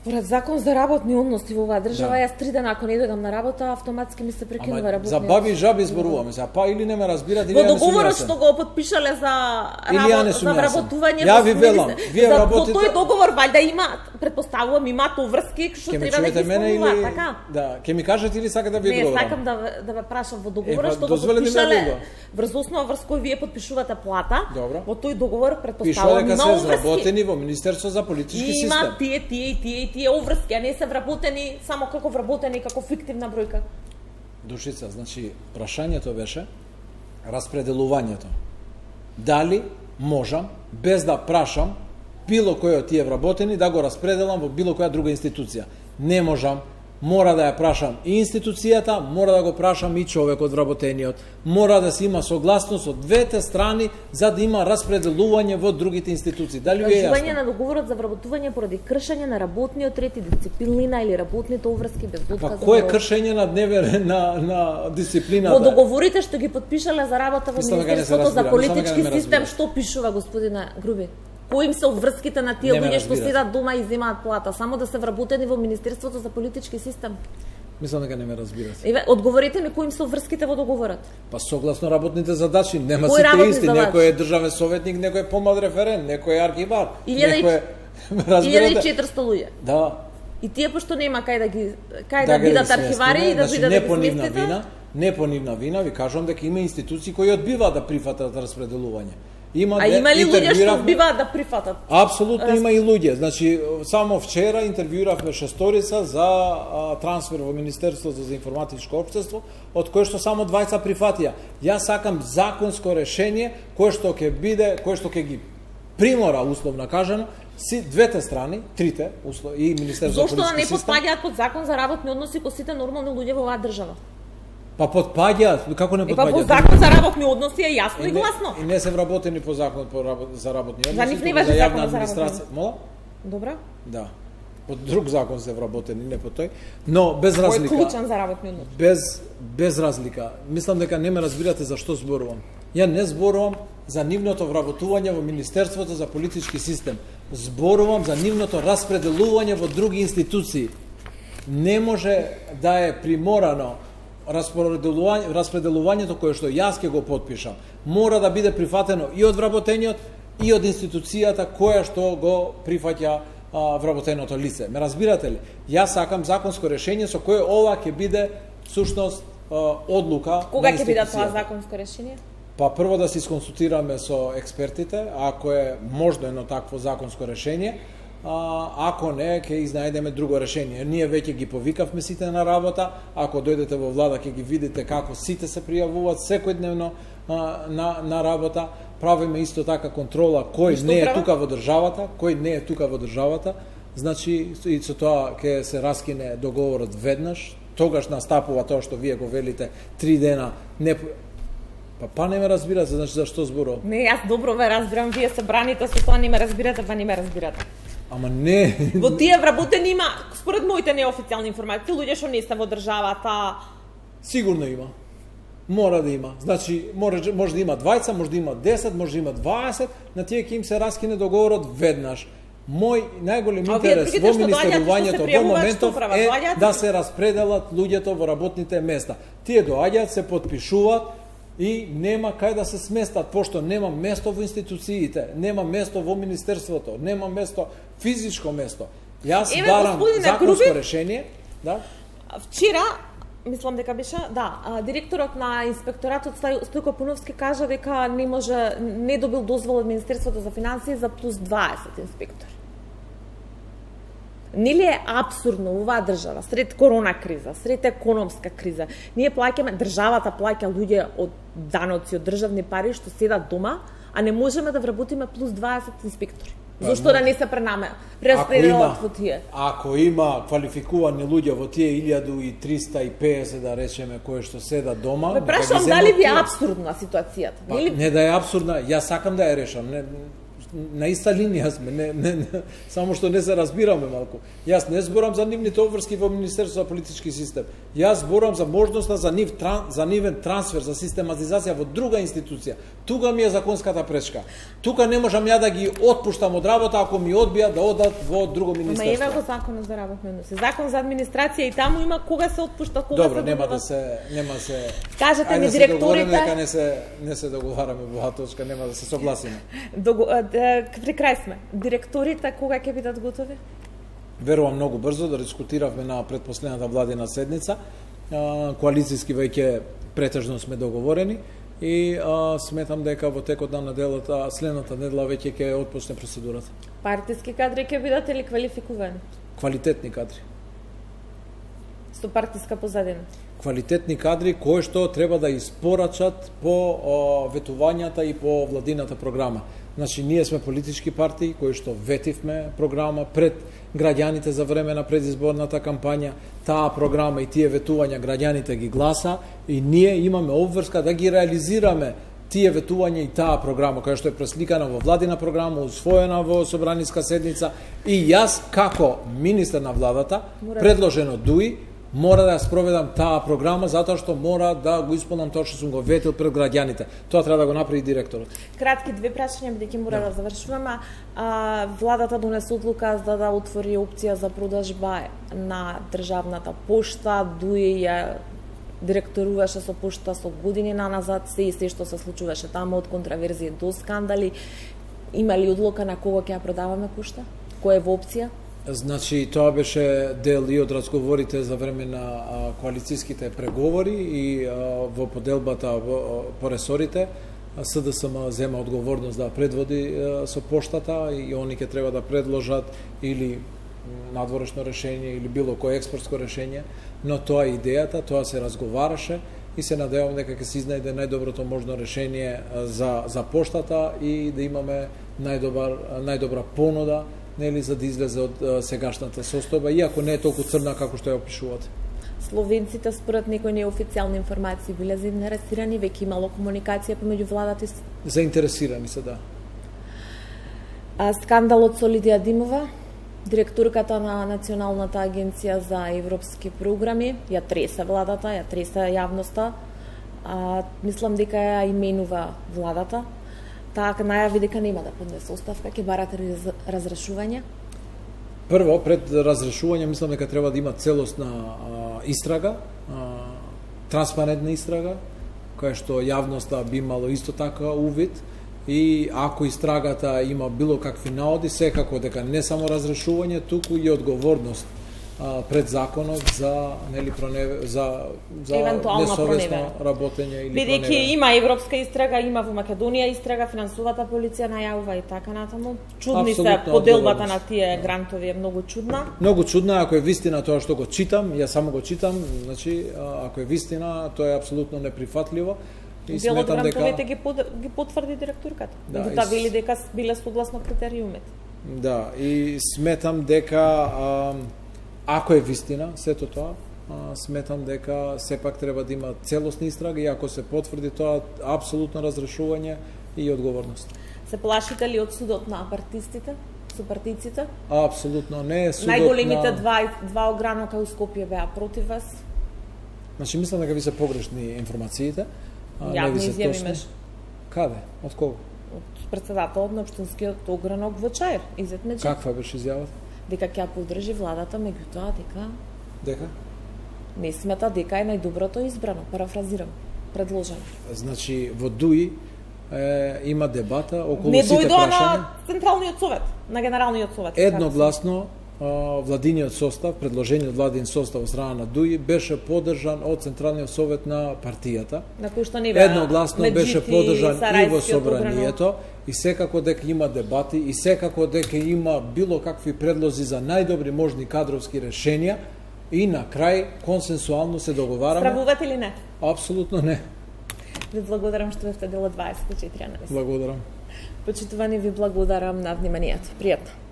Според закон за работни односи во оваа држава, јас 3 дена ако не дојдам на работа, автоматски ми се прекинува работниот. За баби и жаби зборуваме, па или не ме разбирате, или во договорот што го потпишале за вработување. Ја ви велам, вие работите. Тој договор валјда има, претпоставувам, имаат врски што треба да ги исполнуваат, така? Да, ќе ми кажете или сакате да ви одговорам? Не, сакам да ве прашам во договорот што го потпишале врз основа врз кој вие потпишувате плата. Во тој договор претпоставувам има врски. Пишува дека се изработени во Министерство за политички систем. Има тие уврски, а не се вработени само како вработени, како фиктивна бројка. Душица, значи, прашањето беше распределувањето. Дали можам, без да прашам, било кој од тие вработени, да го распределам во било која друга институција? Не можам. Мора да ја прашам и институцијата, мора да го прашам и човекот вработениот. Мора да се има согласност од двете страни за да има распределување во другите институции. Дали ви е јасно? Прашување на договорот за вработување поради кршење на работниот ред и дисциплина или работните уврски без отказ. Па кој е кршење на дисциплината? Во договорите што ги потпишале за работа во Министерството за политички систем, што пишува, господине Груби? Кои им се обврските на тие луѓе што седат дома и земаат плата, само да се вработени во Министерството за политички систем? Мислам дека не ме разбирате. Еве, одговорите ми кои им се обврските во договорот. Па согласно работните задачи, нема сите исти, некој е државен советник, некој е помлад референт, некој е архивар, некој е 1400 луѓе. Да. И тие пошто нема кај да бидат архивари и да бидат сместите. Не по нивна вина, ви кажувам дека има институции кои одбиваат да прифатат распределување. Има ли луѓе што одбиваат да прифатат? Апсолутно има и луѓе. Значи, само вчера интервјуиравме шесторица за трансфер во Министерството за информатичко општество, од кое што само 20 прифатија. Јас сакам законско решение кое што ќе ги примора, условно кажано, двете страни, трите, и Министерството за политички систем. Зошто да не потпаѓаат под закон за работни односи кои сите нормални луѓе во оваа држава? Па потпаѓаат, како не потпаѓаат? Па по закон за работни односи е јасно и гласно. И не се вработени по закон за работни односи. За нив не важи закон за работни. Мола? Добра. Да. По друг закон се вработени, не по тој, но без разлика. Кој е клучен за работни односи? Без разлика. Мислам дека не ме разбирате за што зборувам. Ја не зборувам за нивното вработување во Министерството за политички систем. Зборувам за нивното распределување во други институции. Не може да е приморано распределувањето кое што јас ќе го потпишам. Мора да биде прифатено и од вработениот и од институцијата која што го прифаќа вработеното лице. Ме разбирате ли? Јас сакам законско решение со кое ова ќе биде всушност одлука. Кога ќе биде тоа законско решение? Па прво да се исконсултираме со експертите, ако е можно едно такво законско решение, ако не, ќе изнајдеме друго решение. Ние веќе ги повикавме сите на работа, ако дојдете во влада ќе ги видите како сите се пријавуваат секојдневно на работа. Правиме исто така контрола кој не е тука во државата, значи и со тоа ќе се раскине договорот веднаш, тогаш настапува тоа што вие го велите 3 дена не. Па не ме разбирате, значи зашто зборувам? Не, јас добро ве разбирам, вие се браните со тоа, не ме разбирате, па не ме разбирате. Ама не. Во тие вработени има, според моите неофицијални информации, луѓе што не се во државата. Сигурно има. Мора да има. Значи, може да има 20, може да има 10, може да има 20, на тие ќе им се раскине договорот веднаш. Мој најголем интерес во министерувањето во моментов е да се распределат луѓето во работните места. Тие доаѓаат, се потпишуваат и нема кај да се сместат, пошто нема место во институциите, нема место во министерството, нема место, физичко место. Јас барам законско решение. Да? Вчера, мислам дека беше, директорот на инспекторатот Стојко Пуновски кажа дека не добил дозвола од Министерството за финансии за плюс 20 инспектори. Нели е апсурдно оваа држава, сред корона криза, сред економска криза, ние плаќаме, државата плаќа луѓе од даноци, од државни пари што седат дома, а не можеме да вработиме плюс 20 инспектори. Зошто да не се прераспределат во тие? Ако има квалификувани луѓе во тие 1350 да речеме кои што седат дома, ме прашувам дали ви е апсурдна ситуацијата? Не да е апсурдна, јас сакам да ја решам. На иста линија сме, само што не се разбираме малку. Јас не зборам за нивните обврски во Министерството за политички систем. Јас зборам за можноста за нивен трансфер, за систематизација во друга институција. Тука ми е законската пречка. Тука не можам ја да ги отпуштам од работа ако ми одбијат да одат во друго министерство. Ама има го законот за работни односи. Закон за администрација и таму има кога се отпушта, кога Добро, се нема се. Кажете ми директорите, дека не се договараме во оваа точка, нема да се согласиме. При крај сме. Директорите кога ќе бидат готови? Верувам многу брзо, да дискутиравме на предпоследната владина седница. Коалицијски веќе претежно сме договорени и сметам дека во текот на неделата, следната недела веќе ќе отпочне процедурата. Партиски кадри ќе бидат или квалификувани? Квалитетни кадри. Со партиска позадина? Квалитетни кадри кои што треба да испорачат по ветувањата и по владината програма. Значи, ние сме политички партии кои што ветивме програма пред граѓаните за време на предизборната кампања. Таа програма и тие ветувања граѓаните ги гласа и ние имаме обврска да ги реализираме тие ветувања и таа програма која што е пресликана во владина програма, усвоена во собраниска седница и јас како министер на владата, предложен од ДУИ, мора да ја спроведам таа програма затоа што мора да го исполнам тоа што сум го ветил пред граѓаните. Тоа треба да го направи директорот. Кратки две прашања, бидејќи мора да завршуваме. Владата донесе одлука за да отвори опција за продажба на државната пошта, ДУИ ја директоруваше со пошта со години наназад, се што се случуваше таму од контраверзии до скандали. Има ли одлука на кого ќе ја продаваме пошта? Која е во опција? Значи, тоа беше дел и од разговорите за време на коалицијските преговори и во поделбата по ресорите. СДСМ зема одговорност да предводи со поштата и они ќе треба да предложат или надворешно решение или било кој експортско решение, но тоа е идејата, тоа се разговараше и се надевам дека ќе се изнајде најдоброто можно решение за поштата и да имаме најдобра понуда, нели, за да излезе од сегашната состојба, иако не е толку црна како што ја опишувате. Словенците според некои неофицијални информации биле заинтересирани, веќе имало комуникација помеѓу владата и заинтересирани се, да. Скандалот со Лидија Димова, директорката на Националната агенција за европски програми, ја тресе владата, ја тресе јавноста. Мислам дека ја именува владата. Таа најави дека нема да поднесе оставка, ќе барате разрешување? Прво, пред разрешување, мислам дека треба да има целосна истрага, транспарентна истрага, која што јавноста би имало исто така увид, и ако истрагата има било какви наоди, секако дека не само разрешување, туку и одговорност пред законот за несовесно работење или бидејќи има европска истрага, има во Македонија истрага, финансовата полиција најавува и така натаму. Чудни се поделбата на тие грантови е многу чудна. Многу чудна, ако е вистина тоа што го читам, јас само го читам, значи ако е вистина, тоа е апсолутно неприфатливо. И делот грантовите ги потврди директорката. Таа вели дека биле согласно критериумите. Да, и сметам дека ако е вистина сето тоа, сметам дека сепак треба да има целосна истрага и ако се потврди тоа, апсолутно разрешување и одговорност. Се плашите ли од судот на партистите, со партиците? Апсолутно не. Судот најголемите два огранока у Скопје беа против вас? Значи, мислам дека ви се погрешни информациите. Јавни изјави имаш. Каде? Од кого? Од председателот на општинскиот огранок во Чаир, Изет Меджи. Каква беше изјавата? Дека ќе поддржи владата, меѓутоа дека не смета дека е најдоброто избрано, парафразирам, предложено. Значи, во ДУИ има дебата околу не сите прашања. Не дојдоа на Централниот совет, на Генералниот совет. Едногласно владиниот состав, предложениот владин состав од страна на ДУИ беше поддржан од Централниот совет на партијата. На кој што не беа едногласно беше поддржан и во собранието и секако дека има дебати и секако дека има било какви предлози за најдобри можни кадровски решенија и на крај консенсуално се договараме. Стравувате или не? Апсолутно не. Ви благодарам што бевте дел од 24 анализ. Благодарам. Почитувани, ви благодарам на вниманието. Пријатно.